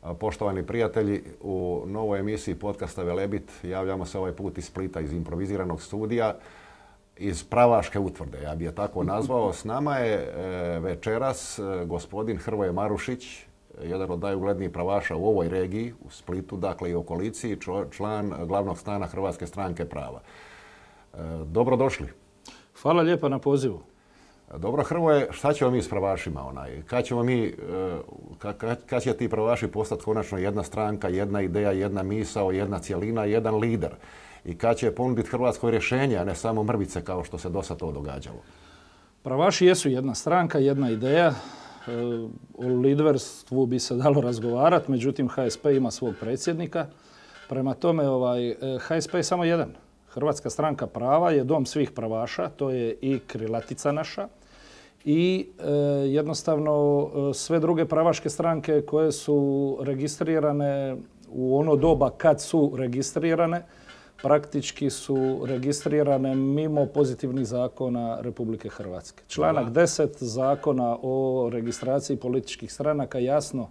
Poštovani prijatelji, u novoj emisiji podcasta Velebit javljamo se ovaj put iz Splita, iz improviziranog studija, iz Pravaške utvrde, ja bih je tako nazvao. S nama je večeras gospodin Hrvoje Marušić, jedan od najuglednijih pravaša u ovoj regiji, u Splitu, dakle i okolici, član glavnog stana Hrvatske stranke prava. Dobrodošli. Hvala lijepa na pozivu. Dobro, Hrvoje, šta ćemo mi s pravašima? Kad će ti pravaši postati konačno jedna stranka, jedna ideja, jedna misao, jedna cjelina, jedan lider? I kad će ponuditi Hrvatskoj rješenje, a ne samo mrvice kao što se do sad to događalo? Pravaši jesu jedna stranka, jedna ideja. O liderstvu bi se dalo razgovarati, međutim HSP ima svog predsjednika. Prema tome, HSP je samo jedan. Hrvatska stranka prava je dom svih pravaša, to je i krilatica naša. I jednostavno sve druge pravaške stranke koje su registrirane u ono doba kad su registrirane, praktički su registrirane mimo pozitivnih zakona Republike Hrvatske. Članak 10 zakona o registraciji političkih stranaka jasno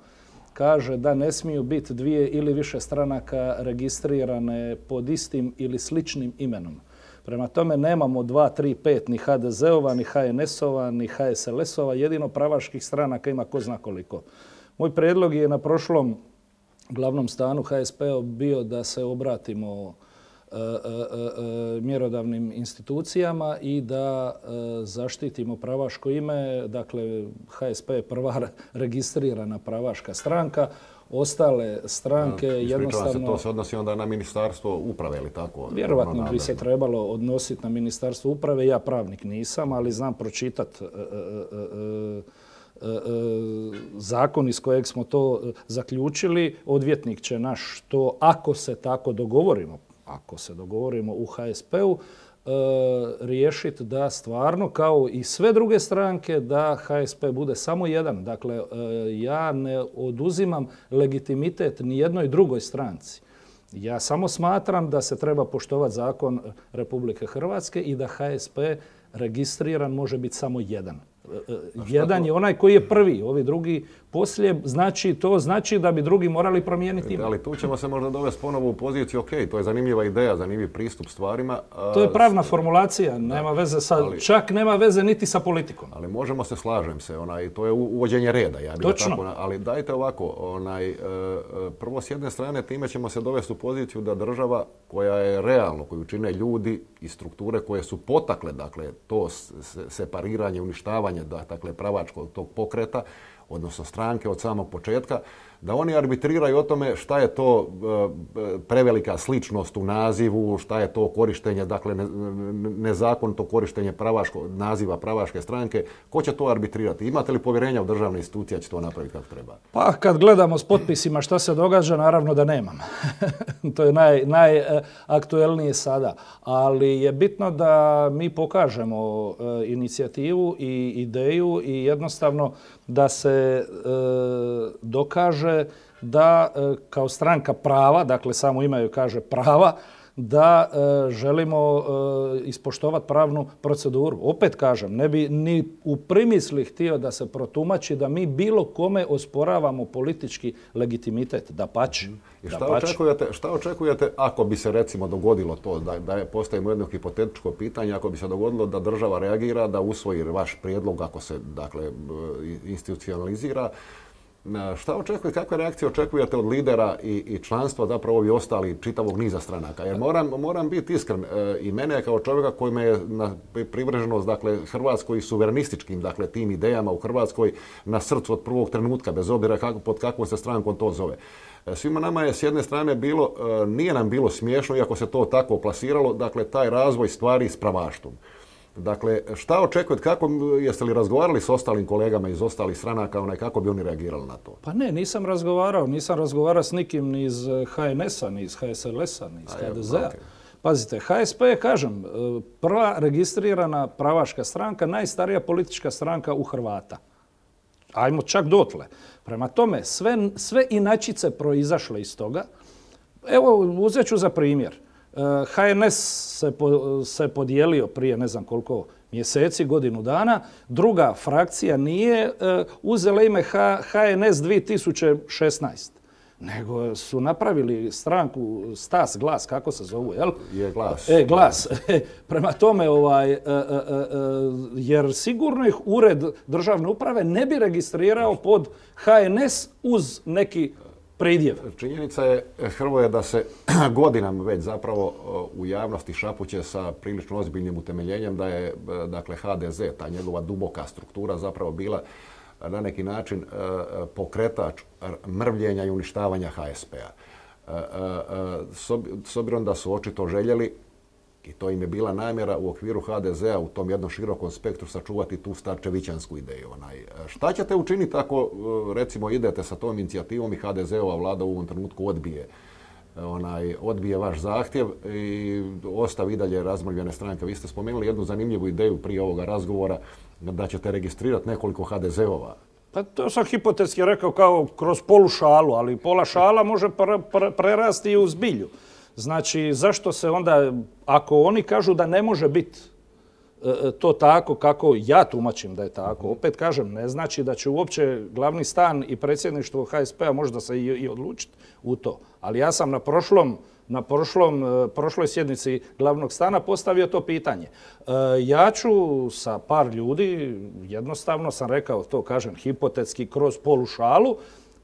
kaže da ne smiju biti dvije ili više stranaka registrirane pod istim ili sličnim imenom. Prema tome nemamo 2, 3, 5 ni HDZ-ova, ni HNS-ova, ni HSLS-ova, jedino pravaških stranaka ima ko zna koliko. Moj prijedlog je na prošlom glavnom stanu HSP-a bio da se obratimo mjerodavnim institucijama i da zaštitimo pravaško ime. Dakle, HSP je prva registrirana pravaška stranka. Ostale stranke jednostavno... To se odnosi onda na Ministarstvo uprave ili tako? Vjerovatno bi se trebalo odnositi na Ministarstvo uprave. Ja pravnik nisam, ali znam pročitati zakon iz kojeg smo to zaključili. Odvjetnik će naš to, ako se tako dogovorimo u HSP-u, riješiti da stvarno, kao i sve druge stranke, da HSP bude samo jedan. Dakle, ja ne oduzimam legitimitet ni jednoj drugoj stranci. Ja samo smatram da se treba poštovati zakon Republike Hrvatske i da HSP registriran može biti samo jedan. Jedan je onaj koji je prvi, ovi drugi poslije, to znači da bi drugi morali promijeniti ime. Ali tu ćemo se možda dovesti ponovo u poziciju, ok, to je zanimljiva ideja, zanimljiv pristup stvarima. To je pravna formulacija, nema veze čak nema veze niti sa politikom. Ali možemo se, slažem se, to je uvođenje reda. Točno. Ali dajte ovako, prvo s jedne strane time ćemo se dovesti u poziciju da država koja je realno, koju čine ljudi i strukture koje su potakle, dakle, to separiranje, uništavanje, dakle, pravačkog tog pokreta, odnosno stranke od samog početka, da oni arbitriraju o tome šta je to prevelika sličnost u nazivu, šta je to korištenje, dakle nezakonito korištenje naziva pravaške stranke. Ko će to arbitrirati? Imate li povjerenja u državne institucije da će to napraviti kako treba? Pa kad gledamo s potpisima šta se događa, naravno da nemam. To je najaktuelnije sada. Ali je bitno da mi pokažemo inicijativu i ideju i jednostavno da se dokaže da kao stranka prava, dakle samo ime joj kaže prava, da želimo ispoštovati pravnu proceduru. Opet kažem, ne bi ni u primisli htio da se protumači da mi bilo kome osporavamo politički legitimitet. Dapače. I šta očekujete ako bi se recimo dogodilo to, da postavimo jedno hipotetičko pitanje, ako bi se dogodilo da država reagira, da usvoji vaš prijedlog, ako se dakle institucionalizira, šta očekujete, kakve reakcije očekujete od lidera i članstva, zapravo ovi ostali čitavog niza stranaka? Jer moram biti iskren, i mene kao čovjeka koji me je privrženost, dakle, Hrvatskoj i suverenističkim, dakle, tim idejama u Hrvatskoj na srcu od prvog trenutka, bez obzira pod kakvom se strankom to zove. Svima nama je s jedne strane nije nam bilo smiješno, iako se to tako plasiralo, dakle, taj razvoj stvari s pravaštvom. Dakle, šta očekujete, jeste li razgovarali s ostalim kolegama iz ostalih stranaka, kako bi oni reagirali na to? Pa ne, nisam razgovarao s nikim ni iz HNS-a, ni iz HSLS-a, ni iz HDZ-a. Okay. Pazite, HSP je, kažem, prva registrirana pravaška stranka, najstarija politička stranka u Hrvata. Ajmo čak dotle. Prema tome, sve inačice proizašle iz toga. Evo, uzet ću za primjer. HNS se podijelio prije ne znam koliko mjeseci, godinu dana. Druga frakcija nije uzela ime HNS 2016. nego su napravili stranku Stas, Glas, kako se zovu, jel? Je Glas. Glas. Prema tome, jer sigurno ih Ured državne uprave ne bi registrirao pod HNS uz neki pridjev. Činjenica je, Hrvoje, da se godinama već zapravo u javnosti šapuće sa prilično ozbiljnim utemeljenjem da je, dakle, HDZ, ta njegova duboka struktura zapravo bila na neki način pokretač mrvljenja i uništavanja HSP-a. S obzirom da su očito željeli, i to im je bila namjera u okviru HDZ-a u tom jednom širokom spektru sačuvati tu starčevićansku ideju. Šta ćete učiniti ako, recimo, idete sa tom inicijativom i HDZ-ova vlada u ovom trenutku odbije vaš zahtjev i ostavi i dalje razmrvljene stranke? Vi ste spomenuli jednu zanimljivu ideju prije ovoga razgovora da ćete registrirati nekoliko HDZ-ova. Pa to sam hipotetski rekao kao kroz polu šalu, ali pola šala može prerasti i u zbilju. Znači, zašto se onda, ako oni kažu da ne može biti to tako kako ja tumačim da je tako, opet kažem, ne znači da će uopće glavni stan i predsjedništvo HSP-a možda se i odlučiti u to. Ali ja sam na prošloj sjednici glavnog stana postavio to pitanje. Ja ću sa par ljudi, jednostavno sam rekao, to kažem hipotetski, kroz polu šalu,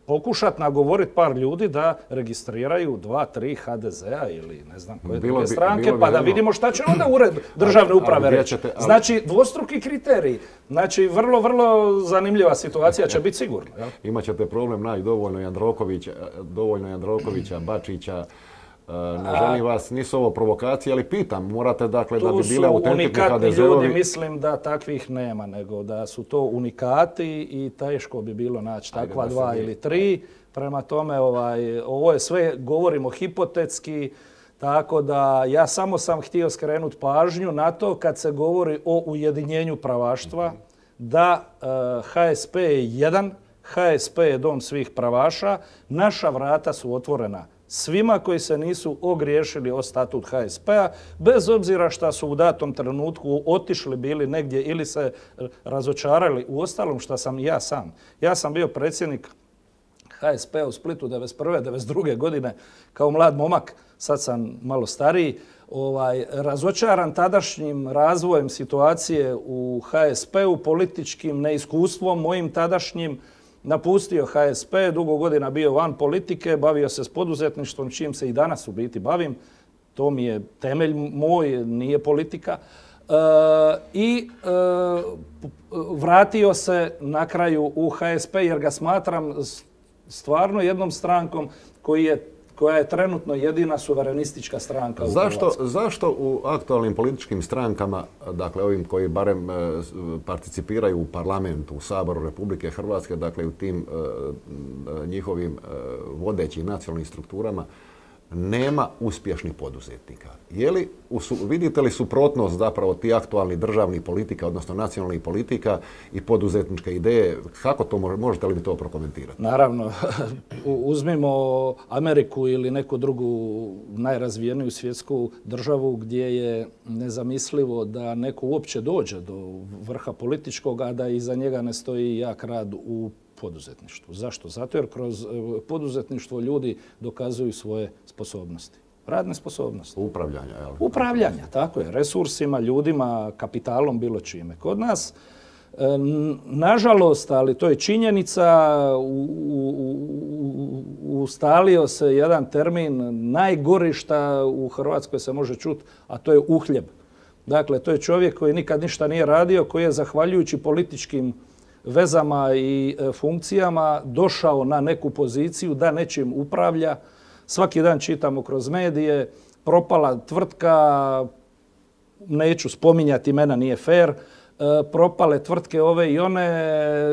pokušati nagovoriti par ljudi da registriraju 2-3 HDZ-a ili ne znam koje druge stranke, pa da vidimo šta će onda Ured državne uprave reći. Znači, dvostruki kriteriji. Znači, vrlo, vrlo zanimljiva situacija će biti sigurno. Imaćete problem naći dovoljno Jandrokovića, Bačića. Ne želim vas, nisu ovo provokacije, ali pitam, morate, dakle, da bi bile autentični HDZ-ovi. Tu su unikatni ljudi, mislim da takvih nema, nego da su to unikati i teško bi bilo naći takva 2 ili 3. Prema tome, ovo je sve, govorimo hipotetski, tako da ja samo sam htio skrenuti pažnju na to kad se govori o ujedinjenju pravaštva, da HSP je jedan, HSP je dom svih pravaša, naša vrata su otvorena svima koji se nisu ogriješili o statut HSP-a, bez obzira što su u datom trenutku otišli bili negdje ili se razočarali. U ostalom što sam i ja sam. Ja sam bio predsjednik HSP-a u Splitu 1991. 1992. godine kao mlad momak, sad sam malo stariji, razočaran tadašnjim razvojem situacije u HSP-u, političkim neiskustvom mojim tadašnjim, napustio HSP, dugo godina bio van politike, bavio se s poduzetništvom, čim se i danas u biti bavim. To mi je temelj moj, nije politika. I vratio se na kraju u HSP jer ga smatram stvarno jednom strankom koja je trenutno jedina suverenistička stranka u Hrvatskoj. Zašto u aktualnim političkim strankama, dakle ovim koji barem participiraju u parlamentu, u Saboru Republike Hrvatske, dakle u tim njihovim vodećim nacionalnim strukturama, nema uspješnih poduzetnika? Vidite li suprotnost zapravo ti aktualni državnih politika, odnosno nacionalnih politika i poduzetničke ideje? Kako to možete li mi to prokomentirati? Naravno, uzmimo Ameriku ili neku drugu najrazvijeniju svjetsku državu gdje je nezamislivo da neko uopće dođe do vrha političkog, a da iza njega ne stoji jak rad u poduzetništvu. Zašto? Zato jer kroz poduzetništvo ljudi dokazuju svoje sposobnosti. Radne sposobnosti. Upravljanja. Upravljanja, tako je. Resursima, ljudima, kapitalom, bilo čime. Kod nas, nažalost, ali to je činjenica, ustalio se jedan termin najgori šta u Hrvatskoj se može čuti, a to je uhljeb. Dakle, to je čovjek koji nikad ništa nije radio, koji je zahvaljujući političkim vezama i funkcijama došao na neku poziciju da nečim upravlja. Svaki dan čitamo kroz medije, propala tvrtka, neću spominjati imena, nije fair, propale tvrtke ove i one,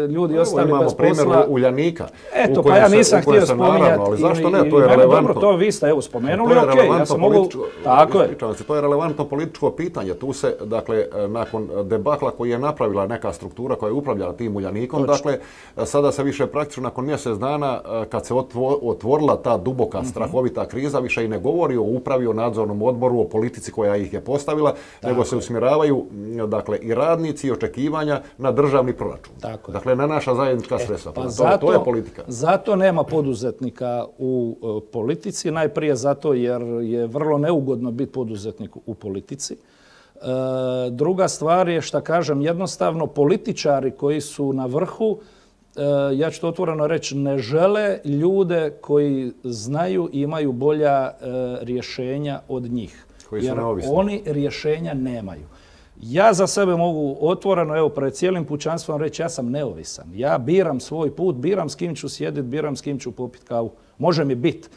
ljudi ostali bez posla. Imamo primjer Uljanika. Eto, pa ja nisam htio spominjati. Ali zašto ne? To je relevantno. Dobro, to vi ste spomenuli, okej. Ja sam mogu... Tako je. To je relevantno političko pitanje. Tu se, dakle, nakon debakla koji je napravila neka struktura koja je upravljala tim Uljanikom, dakle, sada se više praktično nakon mjesec dana, kad se otvorila ta duboka, strahovita kriza, više i ne govori o upravi, o nadzornom odboru, o politici koja ih je postavila, nego se usmjeravaju, dakle, i radnici ambicije i očekivanja na državni proračun. Dakle, na naša zajednička sredstva. To je politika. Zato nema poduzetnika u politici, najprije zato jer je vrlo neugodno biti poduzetnik u politici. Druga stvar je, što kažem, jednostavno političari koji su na vrhu, ja ću to otvoreno reći, ne žele ljude koji znaju i imaju bolja rješenja od njih. Jer oni rješenja nemaju. Ja za sebe mogu otvoreno, evo, pred cijelim pučanstvom reći, ja sam neovisan. Ja biram svoj put, biram s kim ću sjediti, biram s kim ću popiti kavu. Može mi biti.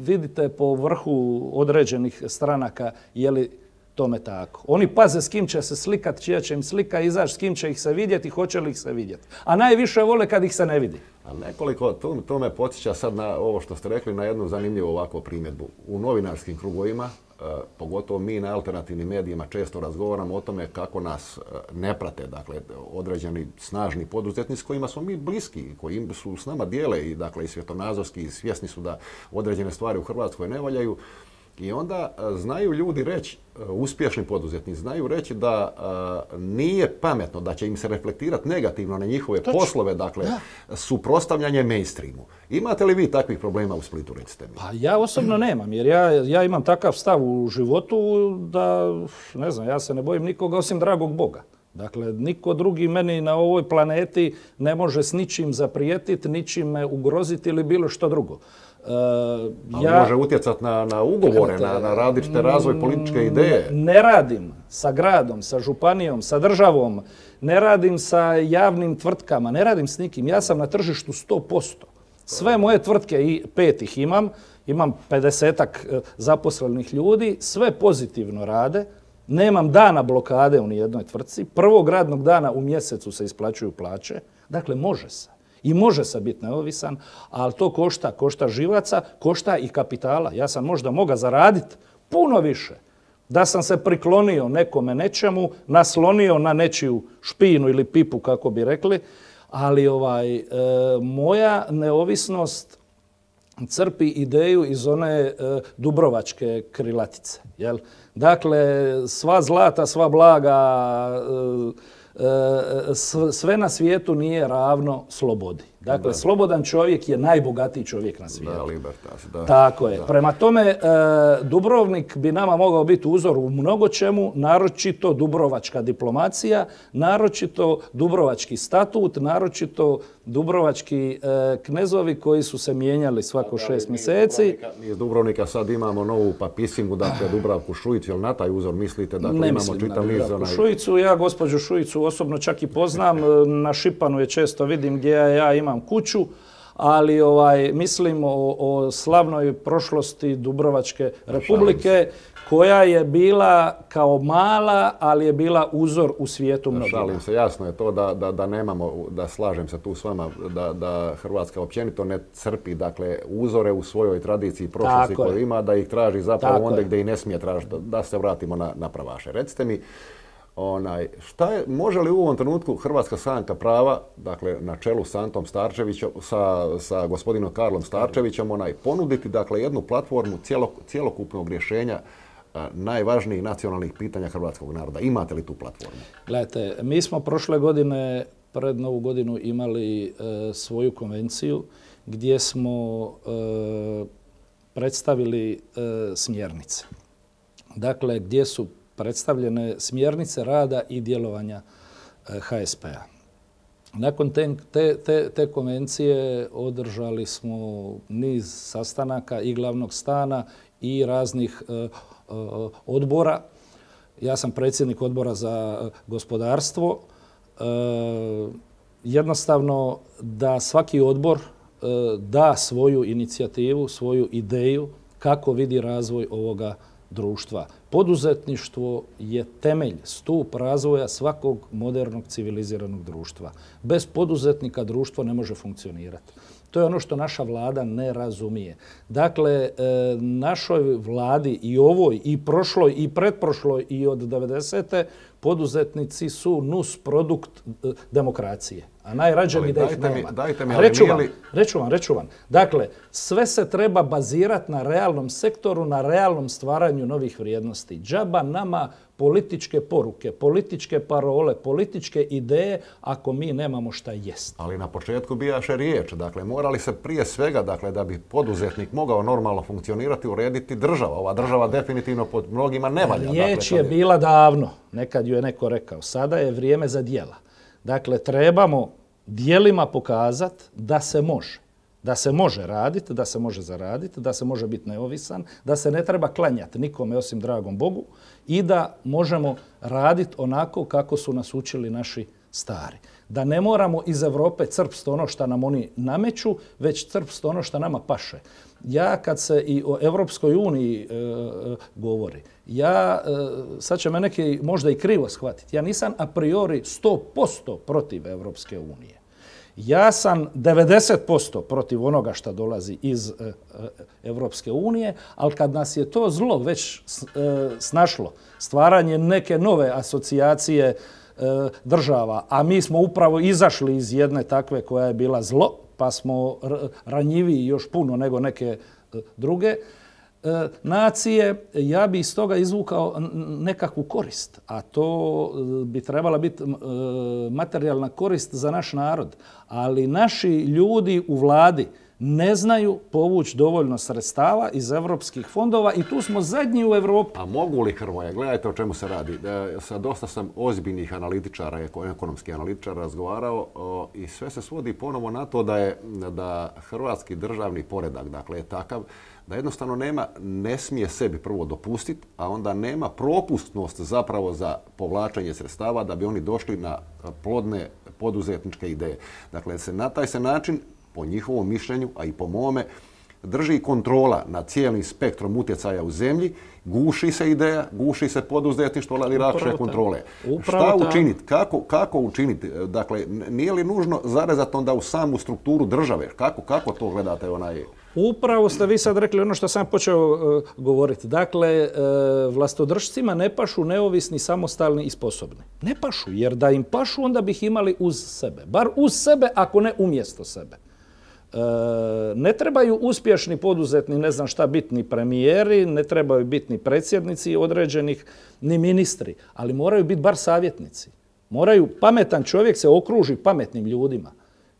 Vidite po vrhu određenih stranaka je li tome tako. Oni paze s kim će se slikat, čija će im slika izaći, s kim će ih se vidjeti, hoće li ih se vidjeti. A najviše vole kad ih se ne vidi. Ali nekoliko, to me podsjeća sad na ovo što ste rekli, na jednu zanimljivu ovakvu primjedbu. U novinarskim krugovima, pogotovo mi na alternativnim medijima često razgovaramo o tome kako nas ne prate, dakle, određeni snažni poduzetnici s kojima smo mi bliski, koji su s nama dijele i, dakle, i svjetonazorski i svjesni su da određene stvari u Hrvatskoj ne valjaju. I onda znaju ljudi reći, uspješni poduzetnici znaju reći da nije pametno, da će im se reflektirati negativno na njihove poslove, dakle, suprotstavljanje mainstreamu. Imate li vi takvih problema u Splitu, recite mi? Pa ja osobno nemam, jer ja imam takav stav u životu da, ne znam, ja se ne bojim nikoga osim dragog Boga. Dakle, niko drugi meni na ovoj planeti ne može s ničim zaprijetiti, ničim me ugroziti ili bilo što drugo. Može utjecati na ugovore, na različite razvoj političke ideje. Ne radim sa gradom, sa županijom, sa državom, ne radim sa javnim tvrtkama, ne radim s nikim. Ja sam na tržištu 100%. Sve moje tvrtke, i 5 ih imam 50-ak zaposlenih ljudi, sve pozitivno rade. Nemam dana blokade u nijednoj tvrtci. Prvog radnog dana u mjesecu se isplaćuju plaće. Dakle, može se. I može se biti neovisan, ali to košta živaca, košta i kapitala. Ja sam možda mogao zaraditi puno više da sam se priklonio nekome nečemu, naslonio na nečiju špinu ili pipu, kako bi rekli, ali moja neovisnost crpi ideju iz one dubrovačke krilatice. Jel? Dakle, sva zlata, sva blaga, sve na svijetu nije ravno slobodi. Dakle, slobodan čovjek je najbogatiji čovjek na svijetu. Da, libertas, da. Tako je. Da. Prema tome, Dubrovnik bi nama mogao biti uzor u mnogo čemu, naročito dubrovačka diplomacija, naročito dubrovački statut, naročito dubrovački knezovi koji su se mijenjali svako 6 mjeseci. Mi iz Dubrovnika sad imamo novu papisingu, dakle Dubravku Šuicu, jel na taj uzor mislite? Dakle, ne mislim na Dubravku Šuicu, ja gospođu Šuicu osobno čak i poznam, na Šipanu je često vidim gdje ja imam kuću, ali mislim o slavnoj prošlosti Dubrovačke republike koja je bila kao mala, ali je bila uzor u svijetu mnogima. Šalim se, jasno je to da nemamo, da slažem se tu s vama, da Hrvatska općenito ne crpi, dakle, uzore u svojoj tradiciji prošlosti koju ima, da ih traži zapravo onda gdje i ne smije tražiti, da se vratimo na pravaše. Recite mi, može li u ovom trenutku Hrvatska stranka prava, dakle na čelu s Antom Starčevićem, sa gospodinom Karlom Starčevićem, ponuditi, dakle, jednu platformu cjelokupnog rješenja najvažnijih nacionalnih pitanja hrvatskog naroda? Imate li tu platformu? Gledajte, mi smo prošle godine, pred Novu godinu, imali svoju konvenciju gdje smo predstavili smjernice. Dakle, gdje su predstavljene smjernice rada i djelovanja HSP-a. Nakon te konvencije održali smo niz sastanaka i glavnog stana i raznih odbora. Ja sam predsjednik odbora za gospodarstvo. Jednostavno da svaki odbor da svoju inicijativu, svoju ideju kako vidi razvoj ovoga društva. Poduzetništvo je temelj, stup razvoja svakog modernog civiliziranog društva. Bez poduzetnika društvo ne može funkcionirati. To je ono što naša vlada ne razumije. Dakle, našoj vladi i ovoj, i prošloj, i pretprošloj, i od 90. poduzetnici su nus produkt demokracije. A najrađe mi da ih nema. Reću vam. Dakle, sve se treba bazirati na realnom sektoru, na realnom stvaranju novih vrijednosti. Džaba nama političke poruke, političke parole, političke ideje ako mi nemamo šta jest. Ali na početku bijaše riječ, dakle morali se prije svega, dakle da bi poduzetnik mogao normalno funkcionirati, urediti država. Ova država definitivno pod mnogima ne valja. Riječ je bila davno, nekad ju je neko rekao, sada je vrijeme za djela. Dakle, trebamo djelima pokazati da se može. Da se može raditi, da se može zaraditi, da se može biti neovisan, da se ne treba klanjati nikome osim dragom Bogu i da možemo raditi onako kako su nas učili naši stari. Da ne moramo iz Europe crpsti ono što nam oni nameću, već crpsti ono što nama paše. Ja kad se i o Europskoj uniji govori, sad će me neki možda i krivo shvatiti, ja nisam a priori 100% protiv Europske unije. Ja sam 90% protiv onoga što dolazi iz Europske unije, ali kad nas je to zlo već snašlo, stvaranje neke nove asocijacije država, a mi smo upravo izašli iz jedne takve koja je bila zlo, pa smo ranjiviji još puno nego neke druge nacije, ja bi iz toga izvukao nekakvu korist, a to bi trebala biti materijalna korist za naš narod. Ali naši ljudi u vladi ne znaju povući dovoljno sredstava iz europskih fondova i tu smo zadnji u Europi. A mogu li, Hrvoje, gledajte o čemu se radi. Sa dosta sam ozbiljnih analitičara, ekonomskih analitičara razgovarao i sve se svodi ponovo na to da hrvatski državni poredak, dakle, je takav da jednostavno ne smije sebi prvo dopustiti, a onda nema propustnost zapravo za povlačenje sredstava da bi oni došli na plodne poduzetničke ideje. Dakle, na taj se način, po njihovom mišljenju, a i po mome, drži kontrola nad cijelim spektrom utjecaja u zemlji, guši se ideja, guši se poduzetništvo, ali lakše kontrole. Šta učiniti? Kako učiniti? Dakle, nije li nužno zarezati onda u samu strukturu države? Kako to gledate Upravo ste vi sad rekli ono što sam počeo govoriti. Dakle, vlastodržcima ne pašu neovisni, samostalni i sposobni. Ne pašu, jer da im pašu onda bi ih imali uz sebe. Bar uz sebe, ako ne umjesto sebe. Ne trebaju uspješni poduzetni, ne znam šta, biti ni premijeri, ne trebaju biti ni predsjednici određenih, ni ministri, ali moraju biti bar savjetnici. Pametan čovjek se okruži pametnim ljudima.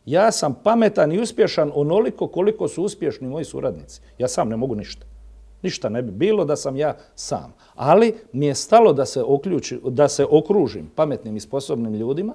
Ja sam pametan i uspješan onoliko koliko su uspješni moji suradnici. Ja sam ne mogu ništa. Ništa ne bi bilo da sam ja sam. Ali mi je stalo da se okružim pametnim i sposobnim ljudima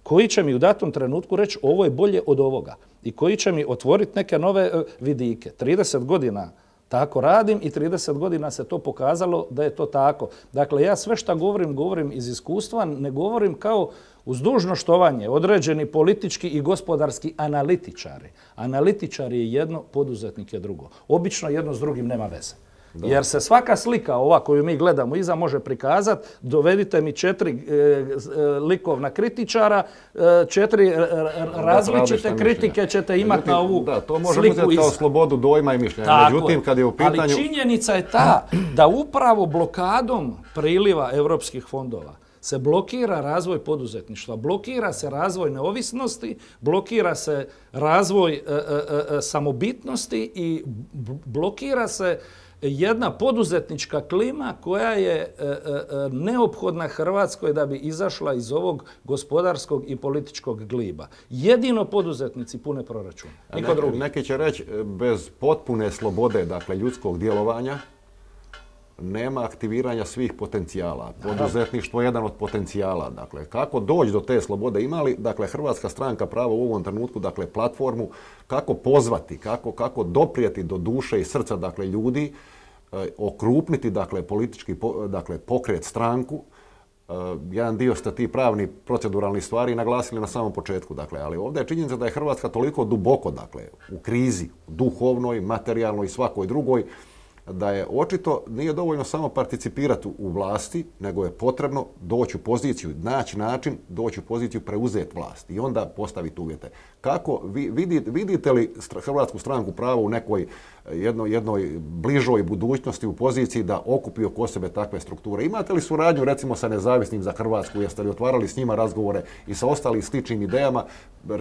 koji će mi u datom trenutku reći ovo je bolje od ovoga i koji će mi otvoriti neke nove vidike. 30 godina tako radim i 30 godina se to pokazalo da je to tako. Dakle, ja sve što govorim iz iskustva, ne govorim kao uz dužno štovanje određeni politički i gospodarski analitičari. Analitičar je jedno, poduzetnik je drugo. Obično jedno s drugim nema veze. Da. Jer se svaka slika ova koju mi gledamo iza može prikazati, dovedite mi 4 likovna kritičara, 4 različite kritike ćete imati na ovu sliku iza. To može uzeti kao slobodu dojma i mišljenja. Međutim, kad je u pitanju... Ali činjenica je ta da upravo blokadom priliva europskih fondova se blokira razvoj poduzetništva, blokira se razvoj neovisnosti, blokira se razvoj samobitnosti i blokira se jedna poduzetnička klima koja je neophodna Hrvatskoj da bi izašla iz ovog gospodarskog i političkog gliba. Jedino poduzetnici pune proračun. Niko drugi. Neki će reći bez potpune slobode, dakle ljudskog djelovanja, nema aktiviranja svih potencijala. Poduzetništvo je jedan od potencijala. Dakle, kako doći do te slobode? Ima li, dakle, Hrvatska stranka pravo u ovom trenutku, dakle, platformu, kako pozvati, kako doprijeti do duše i srca, dakle, ljudi, okrupniti, dakle, politički, dakle, pokret, stranku. Jedan dio ste ti pravni proceduralni stvari naglasili na samom početku, dakle, ali ovdje je činjenica da je Hrvatska toliko duboko, dakle, u krizi, duhovnoj, materijalnoj i svakoj drugoj, da je očito nije dovoljno samo participirati u vlasti, nego je potrebno doći u poziciju, naći način, doći u poziciju preuzeti vlast i onda postaviti uvjete. Kako vidite li Hrvatsku stranku pravo u nekoj jednoj bližoj budućnosti u poziciji da okupi oko sebe takve strukture? Imate li suradnju recimo sa Nezavisnim za Hrvatsku? Jeste li otvarali s njima razgovore i sa ostalim sličnim idejama?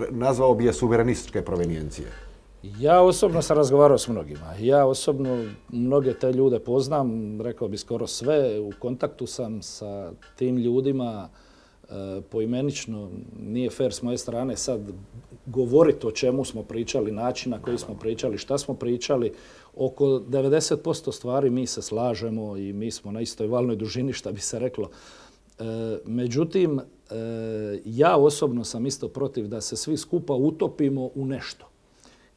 Nazvao bi je suverenističke provenijencije. Ja osobno sam razgovarao s mnogima. Ja osobno mnoge te ljude poznam, rekao bi skoro sve. U kontaktu sam sa tim ljudima poimenično. Nije fair s moje strane sad govoriti o čemu smo pričali, način na koji smo pričali, šta smo pričali. Oko 90% stvari mi se slažemo i mi smo na istoj valnoj dužini, šta bi se reklo. Međutim, ja osobno sam isto protiv da se svi skupa utopimo u nešto.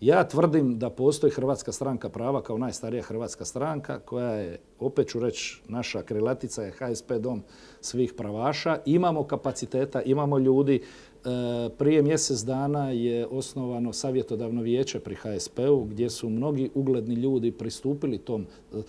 Ja tvrdim da postoji Hrvatska stranka prava kao najstarija hrvatska stranka koja je, opet ću reći, naša krilatica je HSP dom svih pravaša. Imamo kapaciteta, imamo ljudi. Prije mjesec dana je osnovano savjetodavno vijeće pri HSP-u gdje su mnogi ugledni ljudi pristupili tom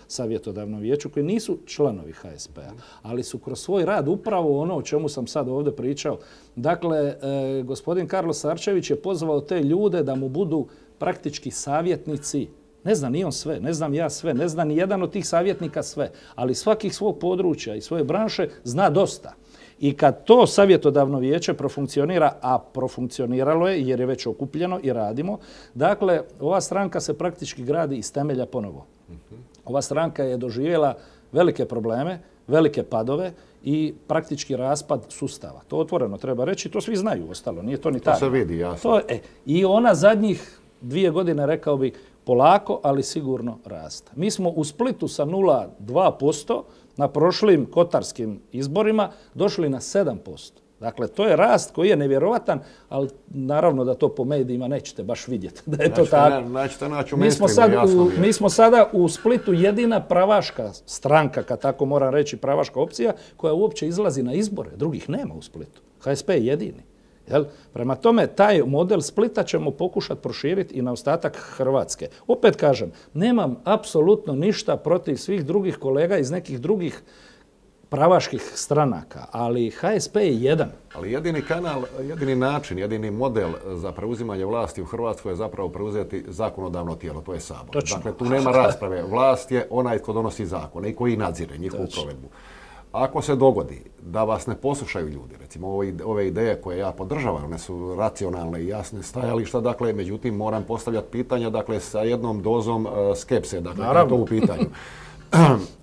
savjetodavnom vijeću koji nisu članovi HSP-a, ali su kroz svoj rad upravo ono o čemu sam sad ovdje pričao. Dakle, gospodin Karlo Sarčević je pozvao te ljude da mu budu praktički savjetnici. Ne zna ni on sve, ne znam ja sve, ne zna ni jedan od tih savjetnika sve, ali svakih svog područja i svoje branše zna dosta. I kad to savjetodavno vijeće profunkcionira, a profunkcioniralo je jer je već okupljeno i radimo, dakle, ova stranka se praktički gradi iz temelja ponovo. Ova stranka je doživjela velike probleme, velike padove i praktički raspad sustava. To otvoreno treba reći, to svi znaju ostalo, nije to ni tajno. To se vidi, jasno. I ona zadnjih 2 godine, rekao bih, polako, ali sigurno raste. Mi smo u Splitu sa 0,2% na prošlim kotarskim izborima došli na 7%. Dakle, to je rast koji je nevjerovatan, ali naravno da to po medijima nećete baš vidjeti da je to tako. Nećete naći u mainstreamu, jasno. Mi smo sada u Splitu jedina pravaška stranka, kad tako moram reći, pravaška opcija, koja uopće izlazi na izbore. Drugih nema u Splitu. HSP je jedini. Prema tome, taj model Splita ćemo pokušati proširiti i na ostatak Hrvatske. Opet kažem, nemam apsolutno ništa protiv svih drugih kolega iz nekih drugih pravaških stranaka, ali HSP je jedan. Ali jedini kanal, jedini način, jedini model za preuzimanje vlasti u Hrvatskoj je zapravo preuzeti zakonodavno tijelo, to je Sabor. Točno. Dakle, tu nema rasprave. Vlast je onaj tko donosi zakone i koji nadzire njihovu provedbu. Ako se dogodi da vas ne poslušaju ljudi, recimo ove ideje koje ja podržavam, one su racionalne i jasne stajališta, dakle, međutim moram postavljati pitanja, dakle, sa jednom dozom skepse, dakle, na to u pitanju.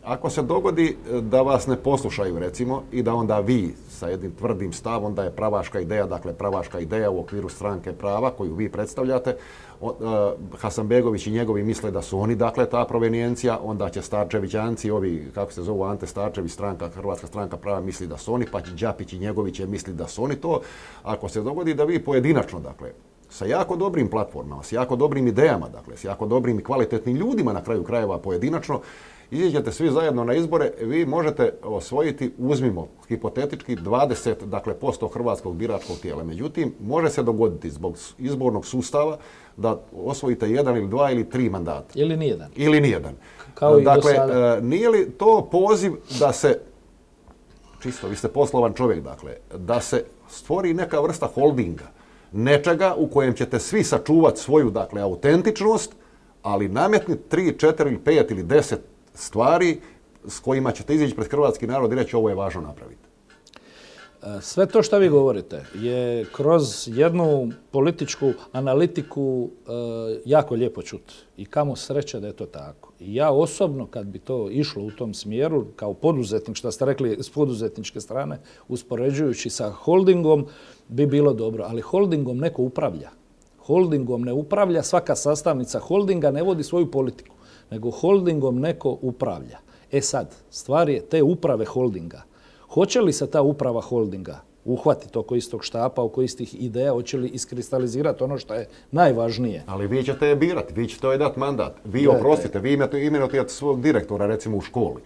Ako se dogodi da vas ne poslušaju, recimo, i da onda vi sa jednim tvrdim stavom da je pravaška ideja, dakle, pravaška ideja u okviru stranke prava koju vi predstavljate, Hasanbegović i njegovi misle da su oni, dakle, ta provenijencija, onda će Starčevićanci, ovi, kako se zovu, Ante Starčević, Hrvatska stranka prava, misli da su oni, pa će Đapić i njegovi će misli da su oni to. Ako se dogodi da vi pojedinačno, dakle, sa jako dobrim platformama, s jako dobrim idejama, dakle, s jako dobrim i kvalitetnim ljudima na kraju krajeva pojedinačno, iziđete svi zajedno na izbore, vi možete osvojiti, uzmimo hipotetički, 20%, dakle, hrvatskog biračkog tijela. Međutim, može se dogoditi zbog izbornog sustava da osvojite 1 ili 2 ili 3 mandata. Ili nijedan. Ili nijedan. Kao dakle, i do sada. Nije li to poziv da se, čisto, vi ste poslovan čovjek, dakle, da se stvori neka vrsta holdinga, nečega u kojem ćete svi sačuvati svoju, dakle, autentičnost, ali nametniti 3, 4 ili 5 ili 10 stvari s kojima ćete izići pred hrvatski narod i reći ovo je važno napraviti. Sve to što vi govorite je kroz jednu političku analitiku jako lijepo čuti. I kamo sreće da je to tako. I ja osobno, kad bi to išlo u tom smjeru, kao poduzetnik, što ste rekli s poduzetničke strane, uspoređujući sa holdingom, bi bilo dobro. Ali holdingom neko upravlja. Holdingom ne upravlja, svaka sastavnica holdinga ne vodi svoju politiku, nego holdingom neko upravlja. E sad, stvar je te uprave holdinga. Hoće li se ta uprava holdinga uhvatiti oko istog štapa, oko istih ideja, hoće li iskristalizirati ono što je najvažnije? Ali vi ćete je birati, vi ćete joj dati mandat. Vi oprostite, vi imenujete svog direktora, recimo u školi.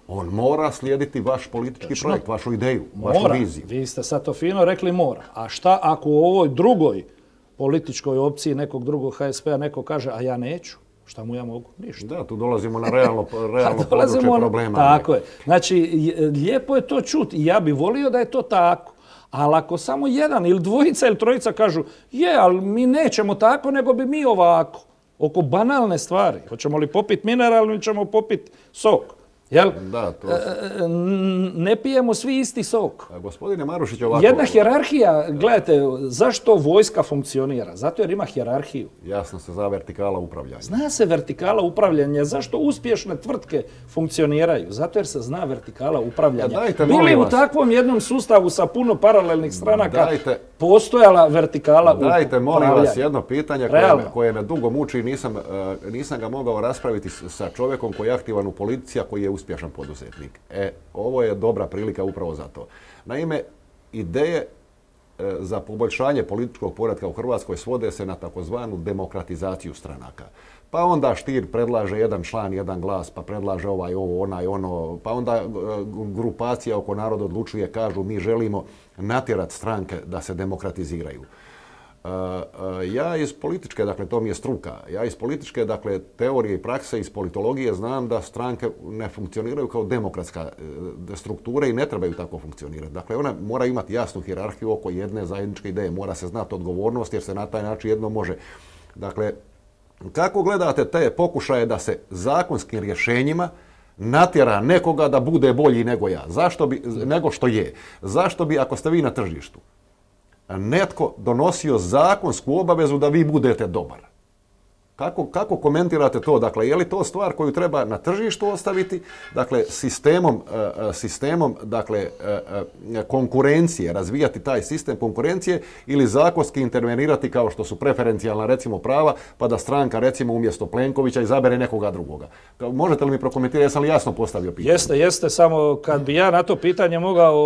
On mora slijediti vaš politički projekt, vašu ideju, vašu viziju. Vi ste sad to fino rekli mora. A šta ako u ovoj drugoj političkoj opciji nekog drugog HSP-a neko kaže, a ja neću? Šta mu ja mogu? Ništa. Da, tu dolazimo na realno područje problema. Tako je. Znači, lijepo je to čuti i ja bih volio da je to tako. Ali ako samo jedan ili dvojica ili trojica kažu ali mi nećemo tako, nego bi mi ovako. Oko banalne stvari. Hoćemo li popiti mineral ili ćemo popiti sok? Jel? Da, to... Ne pijemo svi isti sok. Gospodine Marušić, ovako... Jedna hijerarhija, gledajte, zašto vojska funkcionira? Zato jer ima hijerarhiju. Jasno se zna vertikala upravljanja. Zna se vertikala upravljanja. Zašto uspješne tvrtke funkcioniraju? Zato jer se zna vertikala upravljanja. Bili u takvom jednom sustavu sa puno paralelnih stranaka postojala vertikala upravljanja. Dajte, molim vas, jedno pitanje koje me dugo muči. Nisam ga mogao raspraviti sa čovjekom koji je aktivan u politici, a koji je uspješan poduzetnik. Ovo je dobra prilika upravo za to. Naime, ideje za poboljšanje političkog poretka u Hrvatskoj svode se na takozvanu demokratizaciju stranaka. Pa onda Stier predlaže jedan član, jedan glas, pa predlaže ovaj, ovo, onaj, ono, pa onda grupacija oko Narod odlučuje, kažu mi želimo natjerati stranke da se demokratiziraju. Ja iz političke, dakle to mi je struka, ja iz političke, dakle teorije i prakse, iz politologije znam da stranke ne funkcioniraju kao demokratska struktura i ne trebaju tako funkcionirati. Dakle, ona mora imati jasnu hijerarhiju oko jedne zajedničke ideje, mora se znati odgovornost jer se na taj način jedno može. Dakle, kako gledate te pokušaje da se zakonskim rješenjima natjera nekoga da bude bolji nego ja? Nego što je? Zašto bi, ako ste vi na tržištu, netko donosio zakonsku obavezu da vi budete dobar? Kako komentirate to? Dakle, je li to stvar koju treba na tržištu ostaviti, dakle, sistemom dakle, konkurencije, razvijati taj sistem konkurencije ili zakonski intervenirati kao što su preferencijalna, recimo, prava, pa da stranka, recimo, umjesto Plenkovića izabere nekoga drugoga? Možete li mi prokomentirati, jesam li jasno postavio pitanje? Jeste, samo kad bi ja na to pitanje mogao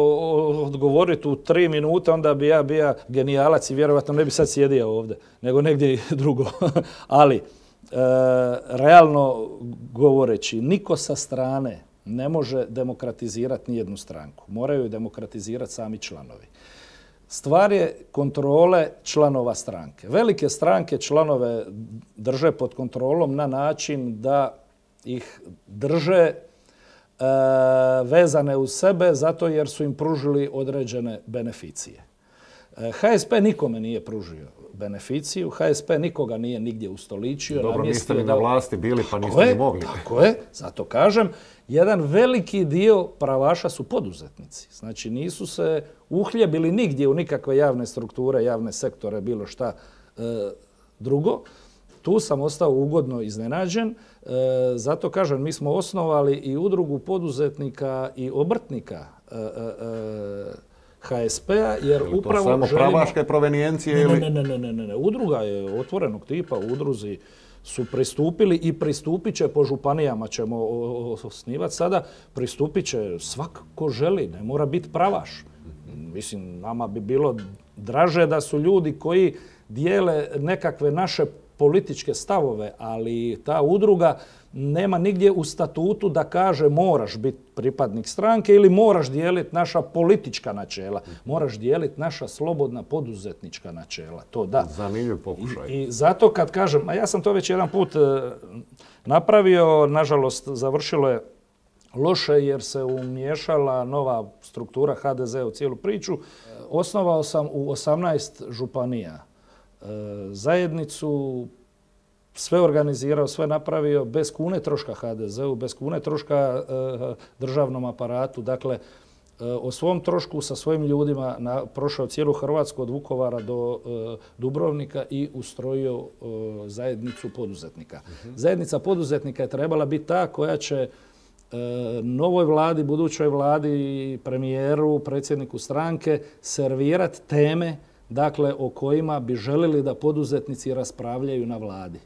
odgovoriti u 3 minute, onda bi ja bio genijalac i vjerovatno ne bi sad sjedio ovdje, nego negdje drugo. Ali, realno govoreći, niko sa strane ne može demokratizirati nijednu stranku. Moraju je demokratizirati sami članovi. Stvar je kontrole članova stranke. Velike stranke članove drže pod kontrolom na način da ih drže vezane uz sebe zato jer su im pružili određene beneficije. HSP nikome nije pružio beneficiju, HSP nikoga nije nigdje ustoličio. Dobro, niste ni na vlasti bili, pa niste ni mogli. Tako je, zato kažem, jedan veliki dio pravaša su poduzetnici. Znači, nisu se uhljebili nigdje u nikakve javne strukture, javne sektore, bilo šta drugo. Tu sam ostao ugodno iznenađen. Zato kažem, mi smo osnovali i udrugu poduzetnika i obrtnika HSP-a, jer upravo želimo... To samo pravaške provenijencije ili... Ne. Udruga je otvorenog tipa, udruzi su pristupili i pristupit će po županijama, ćemo osnivati sada, pristupit će svak ko želi, ne mora biti pravaš. Mislim, nama bi bilo draže da su ljudi koji dijele nekakve naše političke stavove, ali ta udruga nema nigdje u statutu da kaže moraš biti pripadnik stranke ili moraš dijeliti naša politička načela. Moraš dijeliti naša slobodna poduzetnička načela. To da. Zanimljiv pokušaj. I zato kad kažem, a ja sam to već jedan put napravio, nažalost završilo je loše jer se umiješala nova struktura HDZ u cijelu priču. Osnovao sam u 18 županija zajednicu, sve organizirao, sve napravio, bez kune troška HDZ-u, bez kune troška državnom aparatu. Dakle, o svom trošku sa svojim ljudima prošao cijelu Hrvatsku od Vukovara do Dubrovnika i ustrojio zajednicu poduzetnika. Zajednica poduzetnika je trebala biti ta koja će novoj vladi, budućoj vladi, premijeru, predsjedniku stranke servirati teme, dakle, o kojima bi želili da poduzetnici raspravljaju na vladi.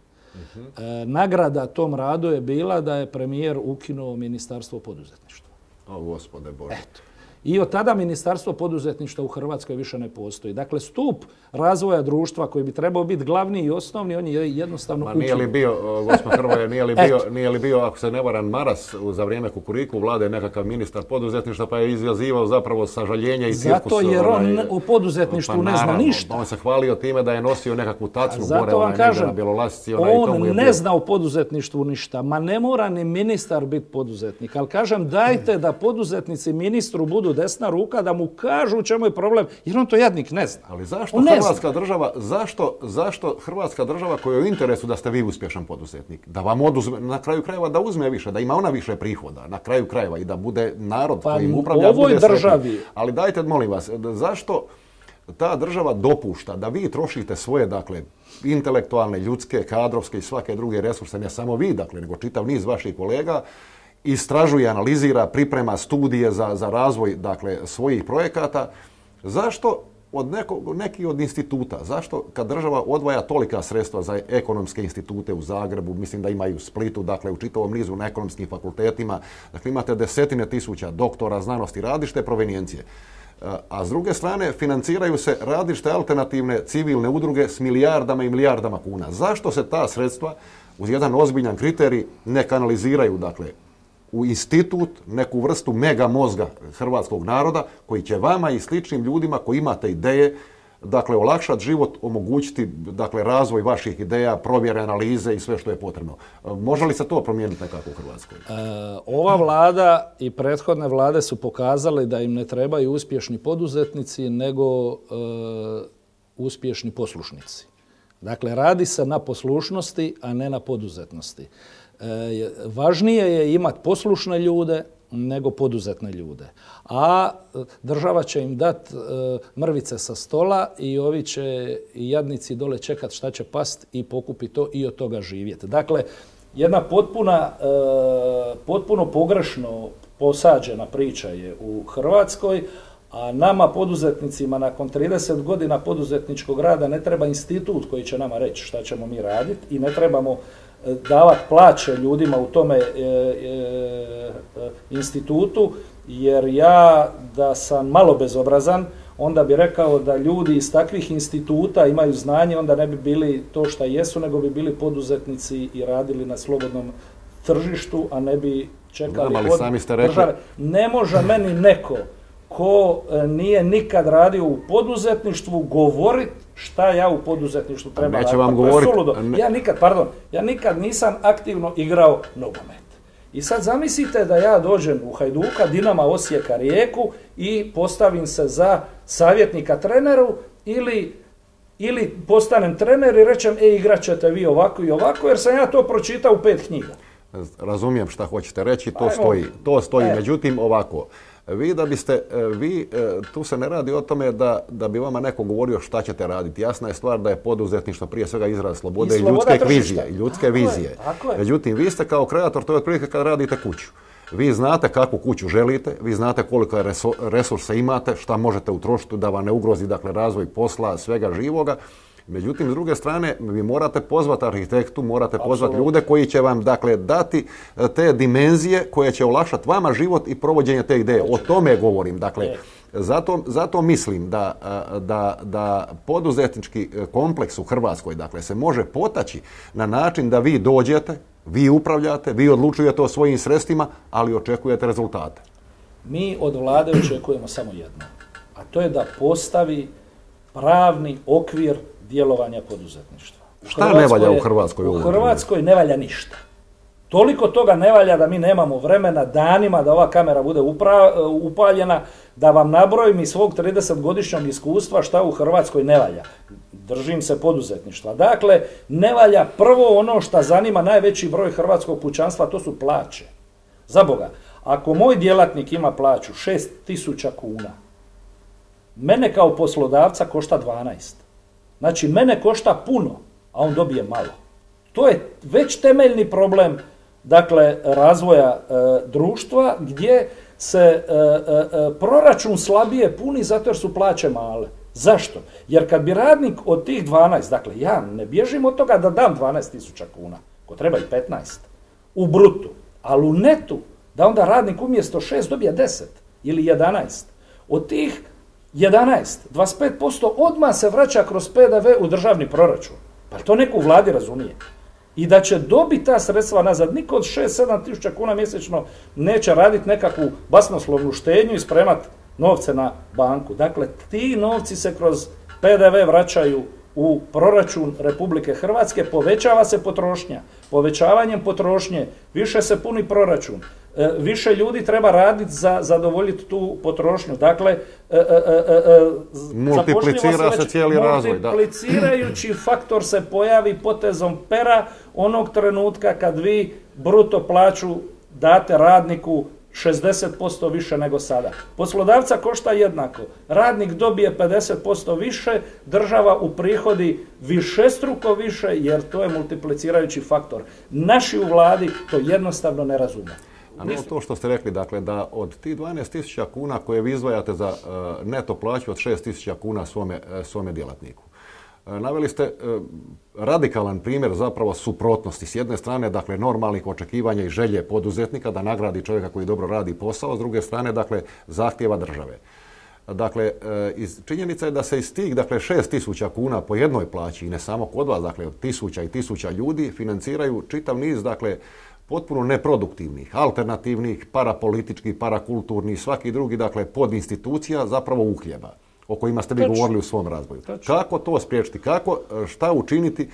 Nagrada tom radu je bila da je premijer ukinuo Ministarstvo poduzetništva. O, Gospode Bože. Eto. I od tada Ministarstvo poduzetništva u Hrvatskoj više ne postoji. Dakle, stup razvoja društva koji bi trebao biti glavni i osnovni, on je jednostavno ukinut. Nije li bio, gospod Hrvoje, nije li bio, ako se ne varam, Maras za vrijeme Kukuriku vlade nekakav ministar poduzetništva, pa je izjazivao zapravo sažaljenje i cirkus. Zato jer on o poduzetništvu ne zna ništa. On se hvalio time da je nosio nekakvu tacnu gore, vam kažem, na Bjelolasici. On ne zna o poduzetništvu ništa. Ma ne mora ni ministar biti poduzetnik, ali kažem, dajte da poduzetnici ministru budu budu desna ruka, da mu kažu u čemu je problem, jer on to jadnik ne zna. Ali zašto Hrvatska država, zašto Hrvatska država koja je u interesu da ste vi uspješan poduzetnik, da vam oduzme, na kraju krajeva da uzme više, da ima ona više prihoda, na kraju krajeva i da bude narod kojim upravlja, bude državi. Ali dajte, molim vas, zašto ta država dopušta da vi trošite svoje, dakle, intelektualne, ljudske, kadrovske i svake druge resurse, ne samo vi, dakle, nego čitav niz vaših kolega, istražuje, analizira, priprema studije za razvoj, dakle, svojih projekata. Zašto neki od instituta, zašto kad država odvaja tolika sredstva za ekonomske institute u Zagrebu, mislim da imaju u Splitu, dakle, u čitavom nizu na ekonomskim fakultetima, dakle, imate desetine tisuća doktora znanosti različite provenijencije. A s druge strane financiraju se različite alternativne civilne udruge s milijardama i milijardama kuna. Zašto se ta sredstva uz jedan ozbiljan kriterij ne kanaliziraju, dakle, u institut, neku vrstu mega mozga hrvatskog naroda koji će vama i sličnim ljudima koji imate ideje, dakle, olakšati život, omogućiti, dakle, razvoj vaših ideja, provjere, analize i sve što je potrebno. Može li se to promijeniti nekako u Hrvatskoj? Ova vlada i prethodne vlade su pokazali da im ne trebaju uspješni poduzetnici, nego uspješni poslušnici. Dakle, radi se na poslušnosti, a ne na poduzetnosti. Važnije je imati poslušne ljude nego poduzetne ljude. A država će im dati mrvice sa stola i ovi će jadnici dole čekati šta će past i pokupiti to i od toga živjeti. Dakle, jedna potpuno pogrešno posađena priča je u Hrvatskoj, a nama poduzetnicima nakon 30 godina poduzetničkog rada ne treba institut koji će nama reći šta ćemo mi raditi i ne trebamo davati plaće ljudima u tome institutu, jer ja da sam malo bezobrazan, onda bi rekao da ljudi iz takvih instituta imaju znanje, onda ne bi bili to što jesu, nego bi bili poduzetnici i radili na slobodnom tržištu, a ne bi čekali od države. Ne može meni neko ko nije nikad radio u poduzetništvu govoriti šta ja u poduzetništvu treba raditi. Neće vam govoriti. Ja nikad nisam aktivno igrao nogomet. I sad zamislite da ja dođem u Hajduka, Dinama, Osijeka, Rijeku i postavim se za savjetnika treneru ili postanem trener i rečem igrat ćete vi ovako i ovako, jer sam ja to pročitao u 5 knjiga. Razumijem šta hoćete reći, to stoji. Međutim, ovako, tu se ne radi o tome da bi vama neko govorio šta ćete raditi. Jasna je stvar da je poduzetništvo prije svega izraz slobode i ljudske vizije. Međutim, vi ste kao kreator, to je otprilike kad radite kuću. Vi znate kakvu kuću želite, vi znate koliko resursa imate, šta možete utrošiti da vam ne ugrozi, dakle, razvoj posla, svega živoga. Međutim, s druge strane, vi morate pozvati arhitektu, morate pozvati ljude koji će vam, dakle, dati te dimenzije koje će olakšati vama život i provođenje te ideje. O tome govorim. Dakle, zato mislim da poduzetnički kompleks u Hrvatskoj, dakle, se može potaći na način da vi dođete, vi upravljate, vi odlučujete o svojim sredstvima, ali očekujete rezultate. Mi od vlade očekujemo samo jedno, a to je da postavi pravni okvir djelovanja poduzetništva. Šta ne valja u Hrvatskoj? U Hrvatskoj ne valja ništa. Toliko toga ne valja da mi nemamo vremena danima da ova kamera bude upaljena, da vam nabrojim iz svog 30-godišnjeg iskustva šta u Hrvatskoj ne valja. Držim se poduzetništva. Dakle, ne valja prvo ono što zanima najveći broj hrvatskog pučanstva, to su plaće. Za Boga, ako moj djelatnik ima plaću 6.000 kuna, mene kao poslodavca košta 12. Znači, mene košta puno, a on dobije malo. To je već temeljni problem, dakle, razvoja društva gdje se proračun slabije puni zato jer su plaće male. Zašto? Jer kad bi radnik od tih 12, dakle, ja ne bježim od toga da dam 12.000 kuna, ko treba i 15, u brutu, ali u netu, da onda radnik umjesto 6 dobije 10 ili 11. Od tih 11, 25% odmah se vraća kroz PDV u državni proračun. Pa to neko u vladi razumije. I da će dobiti ta sredstva nazad. Niko od 6-7 tisuća kuna mjesečno neće raditi nekakvu basnoslovnu štednju i spremati novce na banku. Dakle, ti novci se kroz PDV vraćaju u proračun Republike Hrvatske, povećava se potrošnja. Povećavanjem potrošnje više se puni proračun. Više ljudi treba raditi za zadovoljiti tu potrošnju. Dakle, multiplicira se cijeli razvoj. Multiplicirajući faktor se pojavi potezom pera onog trenutka kad vi bruto plaću date radniku 60% više nego sada. Poslodavca košta jednako. Radnik dobije 50% više, država uprihodi višestruko više jer to je multiplicirajući faktor. Naši u vladi to jednostavno ne razume. A ne to što ste rekli, dakle, da od tih 12.000 kuna koje vi izdvajate za neto plaću od 6.000 kuna svome djelatniku. Naveli ste radikalan primjer zapravo suprotnosti. S jedne strane, dakle, normalnih očekivanja i želje poduzetnika da nagradi čovjeka koji dobro radi posao, s druge strane, dakle, zahtjeva države. Dakle, činjenica je da se iz tih, dakle, 6.000 kuna po jednoj plaći, i ne samo kod vas, dakle, od tisuća i tisuća ljudi, financiraju čitav niz, dakle, potpuno neproduktivnih, alternativnih, parapolitičkih, parakulturnih, svaki drugi, dakle, podinstitucija, zapravo uhljeba, o kojima ste vi govorili u svom razvoju. Kako to spriječiti? Šta učiniti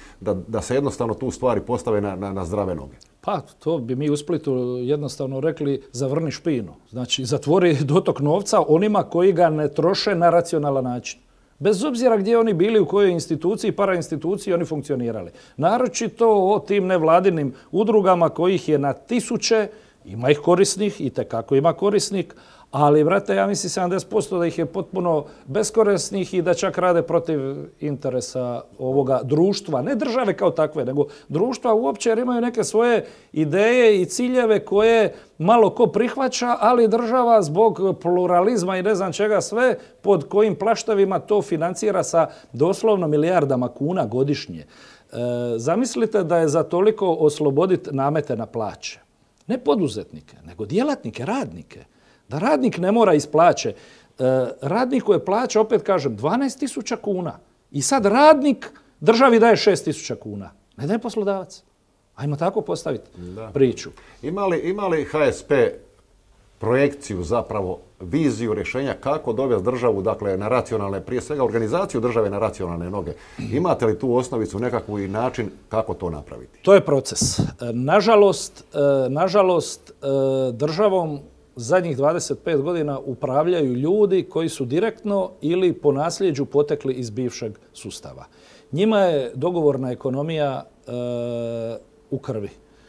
da se jednostavno tu stvari postave na zdrave noge? Pa, to bi mi u Splitu jednostavno rekli zavrni špinu. Znači, zatvori dotok novca onima koji ga ne troše na racionalan način. Bez obzira gdje oni bili, u kojoj instituciji, parainstituciji oni funkcionirali. Naročito o tim nevladinim udrugama kojih je na tisuće, ima ih korisnih, itekako ima korisnik, ali, brate, ja mislim 70% da ih je potpuno beskorisnih i da čak rade protiv interesa ovoga društva. Ne države kao takve, nego društva uopće jer imaju neke svoje ideje i ciljeve koje malo ko prihvaća, ali država zbog pluralizma i ne znam čega sve, pod kojim plaštavima to financira sa doslovno milijardama kuna godišnje. Zamislite da je za toliko osloboditi namete na plaće. Ne poduzetnike, nego djelatnike, radnike. Da radnik ne mora iz plaće. Radniku je plaća, opet kažem, 12.000 kuna. I sad radnik državi daje 6.000 kuna. Ne daje poslodavac. Ajmo tako postaviti priču. Ima li HSP projekciju, zapravo viziju rješenja kako dovesti državu, dakle, na racionalne, prije svega organizaciju države na racionalne noge? Imate li tu osnovicu, nekakvu i način kako to napraviti? To je proces. Nažalost, državom zadnjih 25 godina upravljaju ljudi koji su direktno ili po nasljeđu potekli iz bivšeg sustava. Njima je dogovorna ekonomija u krvi.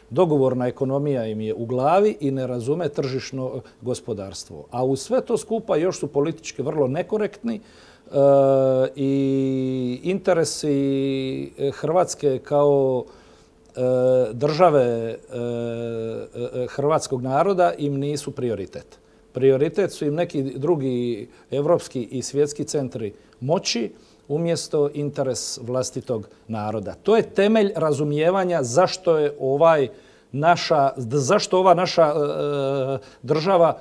Dogovorna ekonomija im je u glavi i ne razume tržišno gospodarstvo. A uz sve to skupa još su politički vrlo nekorektni i interesi Hrvatske kao države hrvatskog naroda im nisu prioritet. Prioritet su im neki drugi evropski i svjetski centri moći umjesto interes vlastitog naroda. To je temelj razumijevanja zašto ova naša država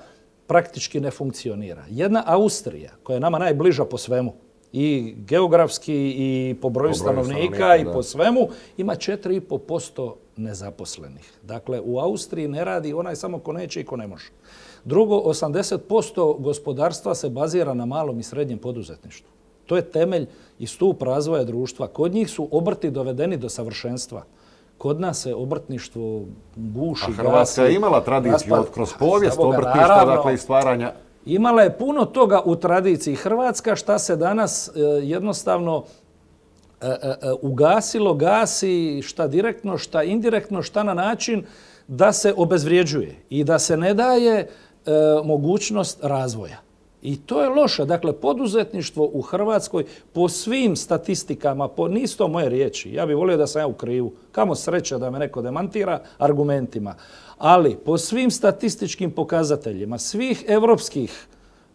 praktički ne funkcionira. Jedna Austrija, koja je nama najbliža po svemu, i geografski i po broju stanovnika i po svemu, ima 4,5% nezaposlenih. Dakle, u Austriji ne radi onaj samo ko neće i ko ne može. Drugo, 80% gospodarstva se bazira na malom i srednjem poduzetništvu. To je temelj i stup razvoja društva. Kod njih su obrti dovedeni do savršenstva. Kod nas se obrtništvo guši, gasi. A Hrvatska je imala tradiciju kroz povijest obrtništva, dakle, i stvaranja. Imala je puno toga u tradiciji Hrvatska šta se danas jednostavno ugasilo, gasi, šta direktno, šta indirektno, šta na način da se obezvrjeđuje i da se ne daje mogućnost razvoja. I to je loše. Dakle, poduzetništvo u Hrvatskoj po svim statistikama, nisu to moje riječi, ja bih volio da sam ja u krivu, kamo sreća da me neko demantira argumentima, ali po svim statističkim pokazateljima, svih evropskih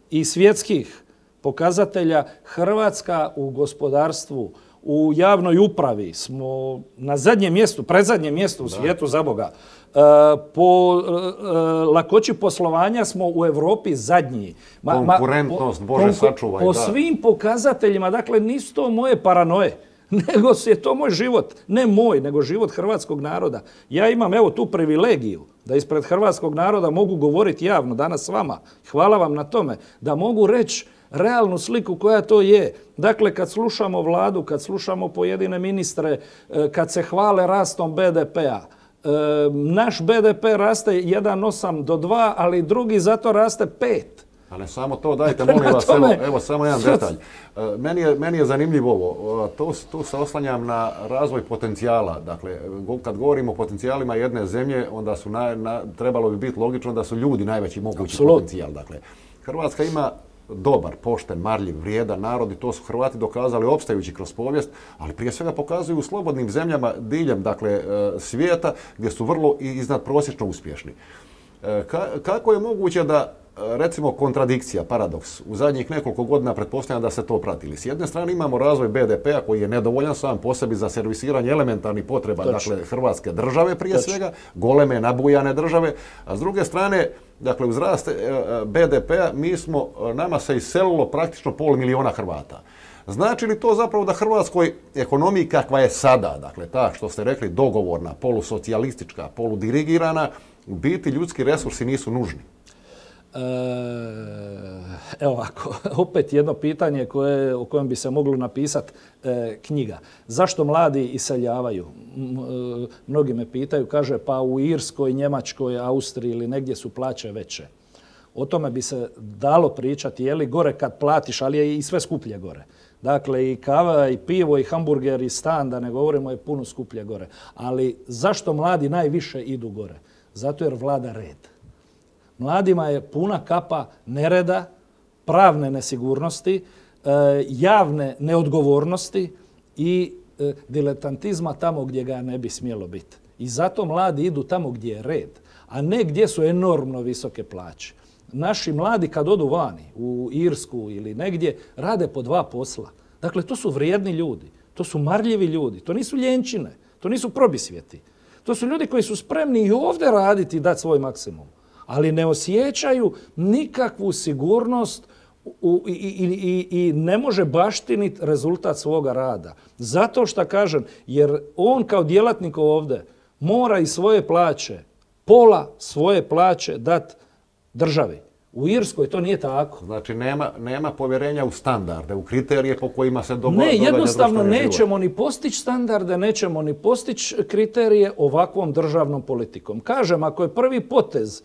i svjetskih pokazatelja, Hrvatska u gospodarstvu, u javnoj upravi smo na zadnjem mjestu, predzadnjem mjestu u svijetu, za Boga. Po lakoći poslovanja smo u Europi zadnji. Konkurentnost, Bože sačuvaj. Po svim pokazateljima, dakle, nisu to moje paranoje, nego je to moj život. Ne moj, nego život hrvatskog naroda. Ja imam, evo, tu privilegiju da ispred hrvatskog naroda mogu govoriti javno danas s vama. Hvala vam na tome. Da mogu reći realnu sliku koja to je. Dakle, kad slušamo vladu, kad slušamo pojedine ministre, kad se hvale rastom BDP-a, naš BDP raste 1,8 do 2, ali drugi zato raste 5. A ne samo to, dajte molim vas, evo samo jedan detalj. Meni je zanimljivo ovo, tu se oslanjam na razvoj potencijala. Dakle, kad govorimo o potencijalima jedne zemlje, onda su trebalo bi biti logično da su ljudi najveći mogući potencijal. Dakle, Hrvatska ima dobar, pošten, marljiv, vrijedan narod i to su Hrvati dokazali opstajući kroz povijest, ali prije svega pokazuju u slobodnim zemljama diljem svijeta gdje su vrlo iznadprosječno uspješni. Kako je moguće da, recimo, kontradikcija, paradoks, u zadnjih nekoliko godina pretpostavljam da se to pratili. S jedne strane imamo razvoj BDP-a koji je nedovoljan sam po sebi za servisiranje elementarnih potreba, dakle, Hrvatske države prije svega, goleme, nabujane države, a s druge strane, dakle, uz rast BDP-a nama se iselilo praktično 500.000 Hrvata. Znači li to zapravo da Hrvatskoj ekonomiji kakva je sada, dakle ta što ste rekli dogovorna, polusocijalistička, poludirigirana, u biti ljudski resursi nisu nužni? Evo ovako, opet jedno pitanje o kojem bi se moglo napisati knjiga. Zašto mladi iseljavaju? Mnogi me pitaju, kaže pa u Irskoj, Njemačkoj, Austriji ili negdje su plaće veće. O tome bi se dalo pričati, je li gore kad platiš, ali je i sve skuplje gore. Dakle, i kava, i pivo, i hamburger, i stan, da ne govorimo, je puno skuplje gore. Ali zašto mladi najviše idu gore? Zato jer vlada red. Mladima je puna kapa nereda, pravne nesigurnosti, javne neodgovornosti i diletantizma tamo gdje ga ne bi smjelo biti. I zato mladi idu tamo gdje je red, a ne gdje su enormno visoke plaće. Naši mladi kad odu vani, u Irsku ili negdje, rade po 2 posla. Dakle, to su vrijedni ljudi, to su marljivi ljudi, to nisu ljenčine, to nisu probisvjeti. To su ljudi koji su spremni i ovdje raditi i dati svoj maksimum, ali ne osjećaju nikakvu sigurnost i ne može baštiniti rezultat svoga rada. Zato što kažem, jer on kao djelatnik ovdje mora iz svoje plaće, pola svoje plaće dati državi. U Irskoj to nije tako. Znači nema povjerenja u standarde, u kriterije po kojima se događa. Ne, jednostavno nećemo ni postići standarde, nećemo ni postići kriterije ovakvom državnom politikom. Kažem, ako je prvi potez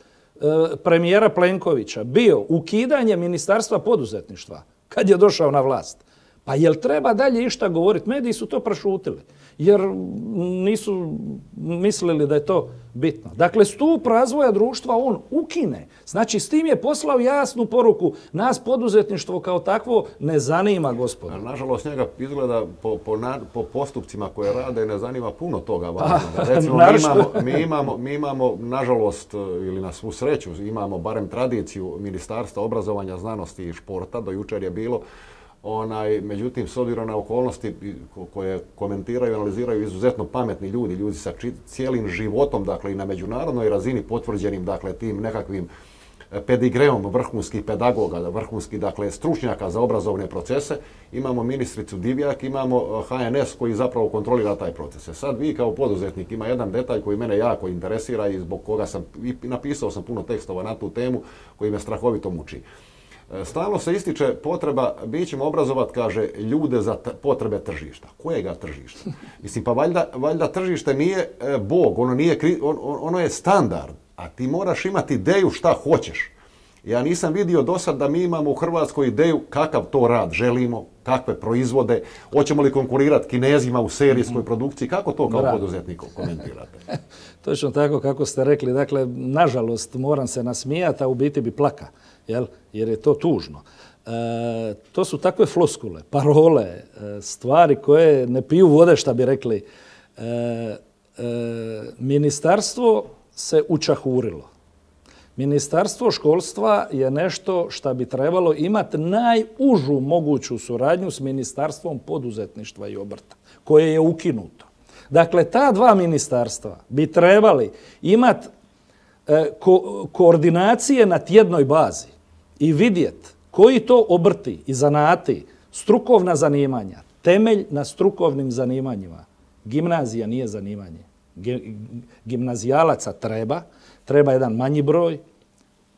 premijera Plenkovića bio ukidanje Ministarstva poduzetništva kad je došao na vlast, pa jel treba dalje išta govoriti? Mediji su to prešutili jer nisu mislili da je to bitno. Dakle, stup razvoja društva on ukine. Znači, s tim je poslao jasnu poruku. Nas poduzetništvo kao takvo ne zanima, gospodo. Nažalost, njega izgleda po postupcima koje rade ne zanima puno toga. Recimo, mi imamo, nažalost, ili na svu sreću, imamo barem tradiciju Ministarstva obrazovanja, znanosti i športa, do jučer je bilo. Međutim, s obzirom na okolnosti koje komentiraju i analiziraju izuzetno pametni ljudi sa cijelim životom, dakle i na međunarodnoj razini potvrđenim, dakle, tim nekakvim pedigreom vrhunskih pedagoga, vrhunskih, dakle, stručnjaka za obrazovne procese, imamo ministricu Divjak, imamo HNS koji zapravo kontrolira taj proces. Sad vi kao poduzetnik, ima jedan detalj koji mene jako interesira i zbog koga napisao sam puno tekstova na tu temu koji me strahovito muči. Stalno se ističe potreba, mi ćemo obrazovati, kaže, ljude za potrebe tržišta. Kojega tržišta? Mislim, pa valjda tržište nije Bog, ono je standard, a ti moraš imati ideju šta hoćeš. Ja nisam vidio do sad da mi imamo u Hrvatskoj ideju kakav to rad želimo, kakve proizvode, hoćemo li konkurirati Kinezima u serijskoj produkciji, kako to kao poduzetnik komentirate? Točno tako kako ste rekli, dakle, nažalost moram se nasmijati, a u biti bi plaka. Jer je to tužno. To su takve floskule, parole, stvari koje ne piju vode, šta bi rekli. Ministarstvo se učahurilo. Ministarstvo školstva je nešto što bi trebalo imati najužu moguću suradnju s Ministarstvom poduzetništva i obrta, koje je ukinuto. Dakle, ta 2 ministarstva bi trebali imati koordinacije na tjednoj bazi i vidjeti koji to obrti i zanati, strukovna zanimanja, temelj na strukovnim zanimanjima. Gimnazija nije zanimanje. Gimnazijalaca treba jedan manji broj,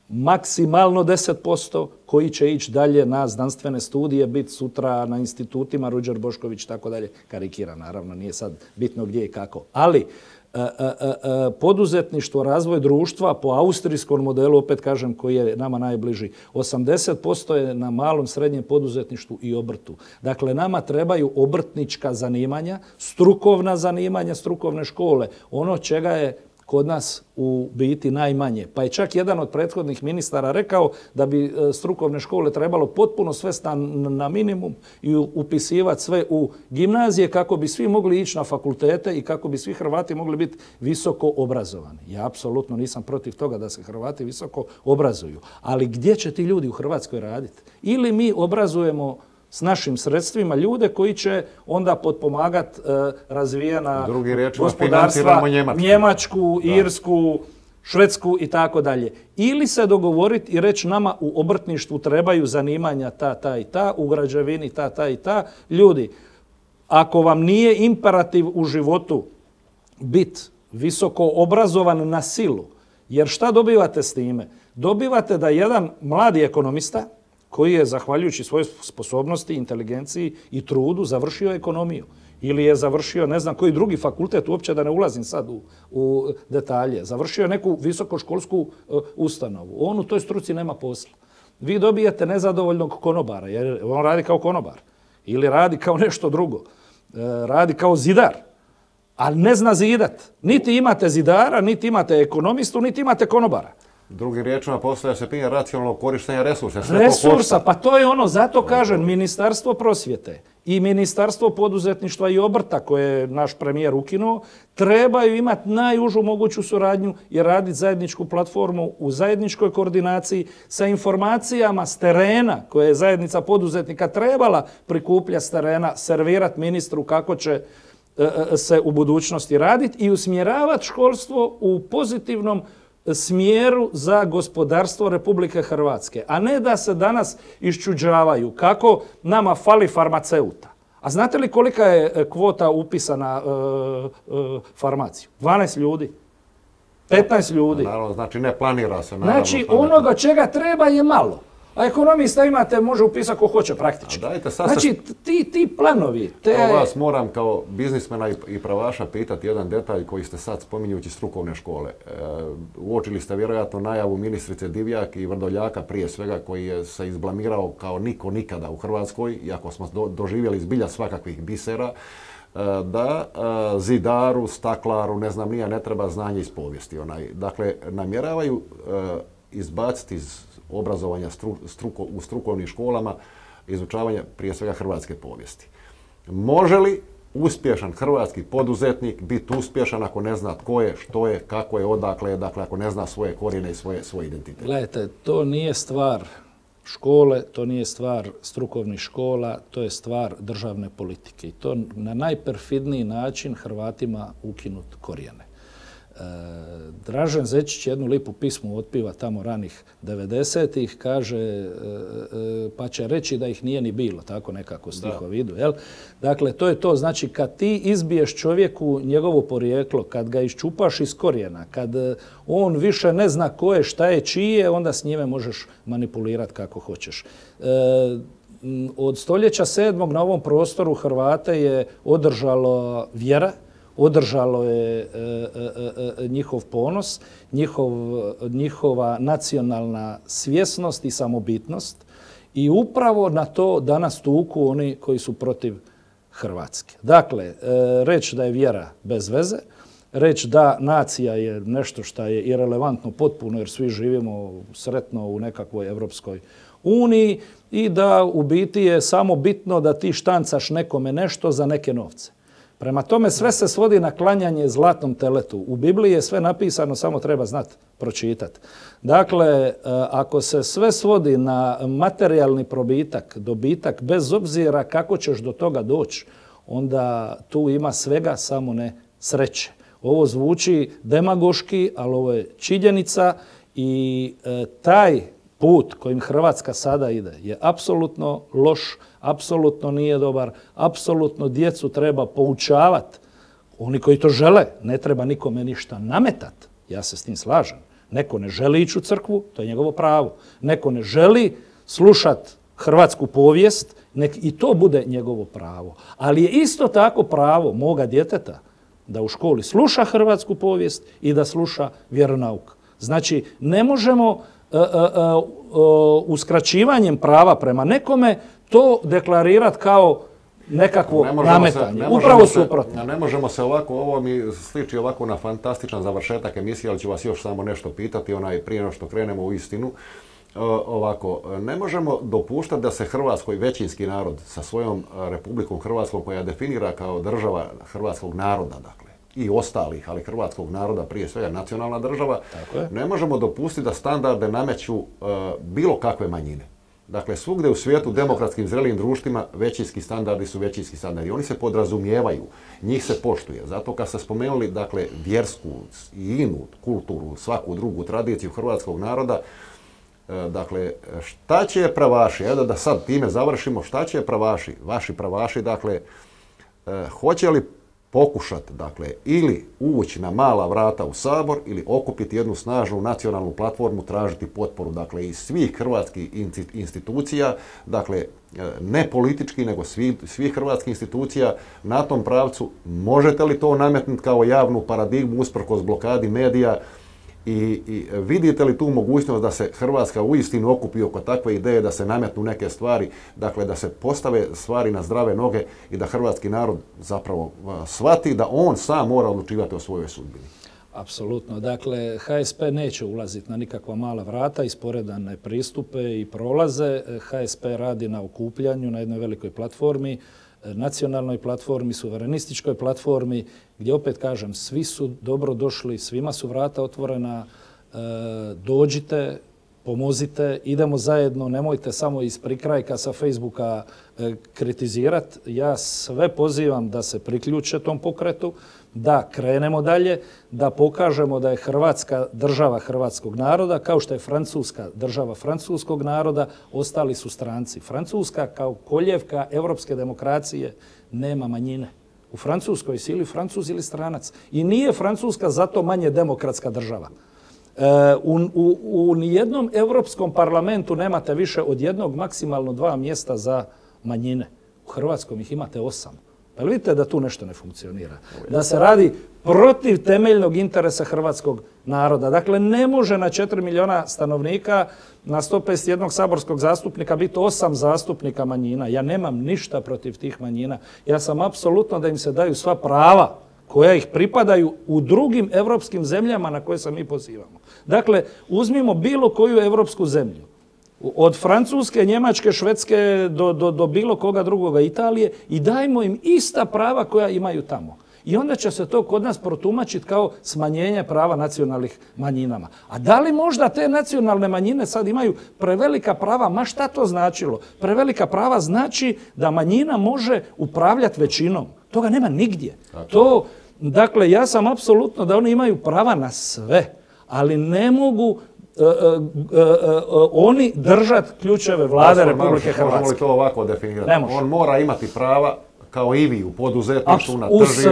maksimalno 10% koji će ići dalje na znanstvene studije, biti sutra na institutima, Ruđer Bošković i tako dalje. Karikira, naravno, nije sad bitno gdje i kako. Ali poduzetništvo, razvoj društva po austrijskom modelu, opet kažem, koji je nama najbliži, 80% je na malom srednjem poduzetništvu i obrtu. Dakle, nama trebaju obrtnička zanimanja, strukovna zanimanja, strukovne škole. Ono čega je kod nas u biti najmanje. Pa je čak jedan od prethodnih ministara rekao da bi strukovne škole trebalo potpuno svesti na minimum i upisivati sve u gimnazije kako bi svi mogli ići na fakultete i kako bi svi Hrvati mogli biti visoko obrazovani. Ja apsolutno nisam protiv toga da se Hrvati visoko obrazuju. Ali gdje će ti ljudi u Hrvatskoj raditi? Ili mi obrazujemo s našim sredstvima ljude koji će onda potpomagati razvijena gospodarstva, Njemačku, Irsku, Švedsku i tako dalje. Ili se dogovoriti i reći nama u obrtništvu trebaju zanimanja ta i ta, u građevini ta i ta. Ljudi, ako vam nije imperativ u životu biti visoko obrazovan na silu, jer šta dobivate s time? Dobivate da jedan mladi ekonomista koji je, zahvaljujući svojoj sposobnosti, inteligenciji i trudu, završio ekonomiju. Ili je završio, ne znam koji drugi fakultet, uopće da ne ulazim sad u detalje. Završio je neku visokoškolsku ustanovu. On u toj struci nema posla. Vi dobijete nezadovoljnog konobara, jer on radi kao konobar. Ili radi kao nešto drugo. Radi kao zidar. Ali ne zna zidat. Niti imate zidara, niti imate ekonomistu, niti imate konobara. Drugim riječima postavlja se pitanje racionalnog korištenja resursa. Resursa, pa to je ono, zato kažem, Ministarstvo prosvjete i Ministarstvo poduzetništva i obrta, koje je naš premijer ukinuo, trebaju imati najužu moguću suradnju i raditi zajedničku platformu u zajedničkoj koordinaciji sa informacijama s terena koje je zajednica poduzetnika trebala prikupljati s terena, servirati ministru kako će se u budućnosti raditi i usmjeravati školstvo u pozitivnom smjeru za gospodarstvo Republike Hrvatske, a ne da se danas iščuđavaju kako nama fali farmaceuta. A znate li kolika je kvota upisa na farmaciju? 12 ljudi. 15 ljudi. Naravno, znači ne planira se. Znači onoga čega treba je malo. A ekonomista imate, može upisati ko hoće praktički. Znači ti planovi. Kao vas moram kao biznismena i pravaša pitati jedan detalj koji ste sad spominjući strukovne škole. Uočili ste vjerojatno najavu ministrice Divjak i Vrdoljaka prije svega koji je se izblamirao kao niko nikada u Hrvatskoj, iako smo doživjeli zbilja svakakvih bisera, da zidaru, staklaru, ne znam nija, ne treba znanje iz povijesti. Dakle, namjeravaju izbaciti iz obrazovanja u strukovnim školama, izučavanja prije svega hrvatske povijesti. Može li uspješan hrvatski poduzetnik biti uspješan ako ne zna tko je, što je, kako je, odakle je, dakle ako ne zna svoje korijene i svoj identitet? Gledajte, to nije stvar škole, to nije stvar strukovnih škola, to je stvar državne politike. I to na najperfidniji način Hrvatima ukinut korijene. Dražen Zečić jednu lipu pismu otpiva tamo ranih 90-ih, kaže pa će reći da ih nije ni bilo, tako nekako stihovi idu. Dakle, to je to. Znači, kad ti izbiješ čovjeku njegovo porijeklo, kad ga iščupaš iz korijena, kad on više ne zna ko je, šta je, čije, onda s njime možeš manipulirati kako hoćeš. Od stoljeća 7. na ovom prostoru Hrvate je održalo vjera, održalo je njihov ponos, njihova nacionalna svjesnost i samobitnost i upravo na to danas tuku oni koji su protiv Hrvatske. Dakle, reći da je vjera bez veze, reći da nacija je nešto što je irelevantno potpuno jer svi živimo sretno u nekakvoj Europskoj uniji i da u biti je samo bitno da ti štancaš nekome nešto za neke novce. Prema tome sve se svodi na klanjanje zlatnom teletu. U Bibliji je sve napisano, samo treba znati pročitati. Dakle, ako se sve svodi na materijalni probitak, dobitak, bez obzira kako ćeš do toga doći, onda tu ima svega, samo ne sreće. Ovo zvuči demagoški, ali ovo je činjenica i taj put kojim Hrvatska sada ide je apsolutno loš, apsolutno nije dobar, apsolutno djecu treba poučavati. Oni koji to žele, ne treba nikome ništa nametati, ja se s tim slažem. Neko ne želi ići u crkvu, to je njegovo pravo. Neko ne želi slušati hrvatsku povijest, nek i to bude njegovo pravo. Ali je isto tako pravo moga djeteta da u školi sluša hrvatsku povijest i da sluša vjeronauk. Znači, ne možemo uskraćivanjem prava prema nekome to deklarirati kao nekakvo nametanje. Upravo suprotno. Ne možemo se ovako, ovo mi sliči ovako na fantastičan završetak emisije, ali ću vas još samo nešto pitati, prije nego što krenemo u istinu. Ovako, ne možemo dopuštati da se Hrvatskoj većinski narod sa svojom Republikom Hrvatskom, koja definira kao država hrvatskog naroda, dakle, i ostalih, ali hrvatskog naroda, prije svega nacionalna država, ne možemo dopustiti da standarde nameću bilo kakve manjine. Dakle, svugdje u svijetu, demokratskim zrelim društvima, većinski standardi su većinski standardi. Oni se podrazumijevaju, njih se poštuje. Zato kad ste spomenuli, dakle, vjersku i inu kulturu, svaku drugu tradiciju hrvatskog naroda, dakle, šta će pravaši, evo da sad time završimo, šta će pravaši, vaši pravaši, dakle, hoće li pokušati, dakle, ili ući na mala vrata u Sabor ili okupiti jednu snažnu nacionalnu platformu, tražiti potporu, dakle, iz svih hrvatskih institucija, dakle, ne politički, nego svih hrvatskih institucija na tom pravcu. Možete li to nametnuti kao javnu paradigmu usprkos blokadi medija i vidite li tu mogućnost da se Hrvatska uistinu okupi oko takve ideje, da se nametnu neke stvari, dakle da se postave stvari na zdrave noge i da hrvatski narod zapravo shvati da on sam mora odlučivati o svojoj sudbini? Apsolutno. Dakle, HSP neće ulaziti na nikakva mala vrata, isporedane pristupe i prolaze. HSP radi na okupljanju na jednoj velikoj platformi, nacionalnoj platformi, suverenističkoj platformi, gdje opet kažem, svi su dobro došli, svima su vrata otvorena, dođite, pomozite, idemo zajedno, nemojte samo iz prikrajka sa Facebooka kritizirati. Ja sve pozivam da se priključe tom pokretu, da krenemo dalje, da pokažemo da je Hrvatska država hrvatskog naroda, kao što je Francuska država francuskog naroda, ostali su stranci. Francuska kao koljevka europske demokracije nema manjine. U Francuskoj si ili Francuz ili stranac. I nije Francuska zato manje demokratska država. U nijednom europskom parlamentu nemate više od jednog, maksimalno 2 mjesta za manjine. U Hrvatskom ih imate 8. Pa vidite da tu nešto ne funkcionira. Da se radi protiv temeljnog interesa hrvatskog naroda. Dakle, ne može na 4 milijuna stanovnika, na 151 saborskog zastupnika biti 8 zastupnika manjina. Ja nemam ništa protiv tih manjina. Ja sam apsolutno da im se daju sva prava koja ih pripadaju u drugim europskim zemljama na koje se mi pozivamo. Dakle, uzmimo bilo koju europsku zemlju. Od Francuske, Njemačke, Švedske do bilo koga drugoga, Italije, i dajmo im ista prava koja imaju tamo. I onda će se to kod nas protumačiti kao smanjenje prava nacionalnih manjinama. A da li možda te nacionalne manjine sad imaju prevelika prava? Ma šta to značilo? Prevelika prava znači da manjina može upravljati većinom. Toga nema nigdje. Dakle, ja sam apsolutno da oni imaju prava na sve, ali ne mogu oni držati ključeve vlade Republike Hrvatske. Možemo li to ovako definirati? On mora imati prava kao i vi u poduzetništvu, na tržištu,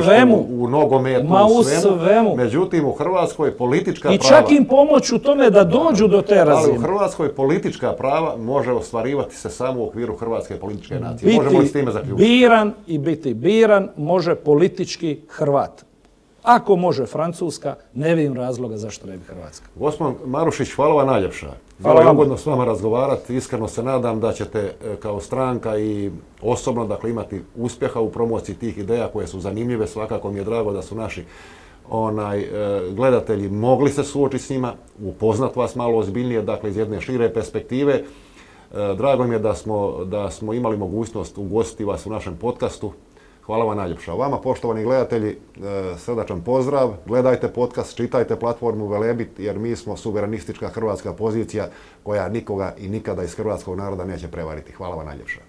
u nogometu, u svemu. Međutim, u Hrvatskoj politička prava... I čak im pomoć u tome da dođu do te razine. Ali u Hrvatskoj politička prava može ostvarivati se samo u okviru hrvatske političke nacije. Možemo li s time zaključiti? Biran i biti biran može politički Hrvat. Ako može Francuska, ne vidim razloga zašto ne bi Hrvatska. Gospodin Marušić, hvala vam najljepša. Bilo je ugodno s vama razgovarati. Iskreno se nadam da ćete kao stranka i osobno, dakle, imati uspjeha u promociji tih ideja koje su zanimljive. Svakako mi je drago da su naši gledatelji mogli se suočiti s njima, upoznat vas malo ozbiljnije, dakle, iz jedne šire perspektive. Drago mi je da smo imali mogućnost ugostiti vas u našem podcastu. Hvala vam najljepša. Vama, poštovani gledatelji, srdačan pozdrav. Gledajte podcast, čitajte platformu Velebit, jer mi smo suverenistička hrvatska pozicija koja nikoga i nikada iz hrvatskog naroda neće prevariti. Hvala vam najljepša.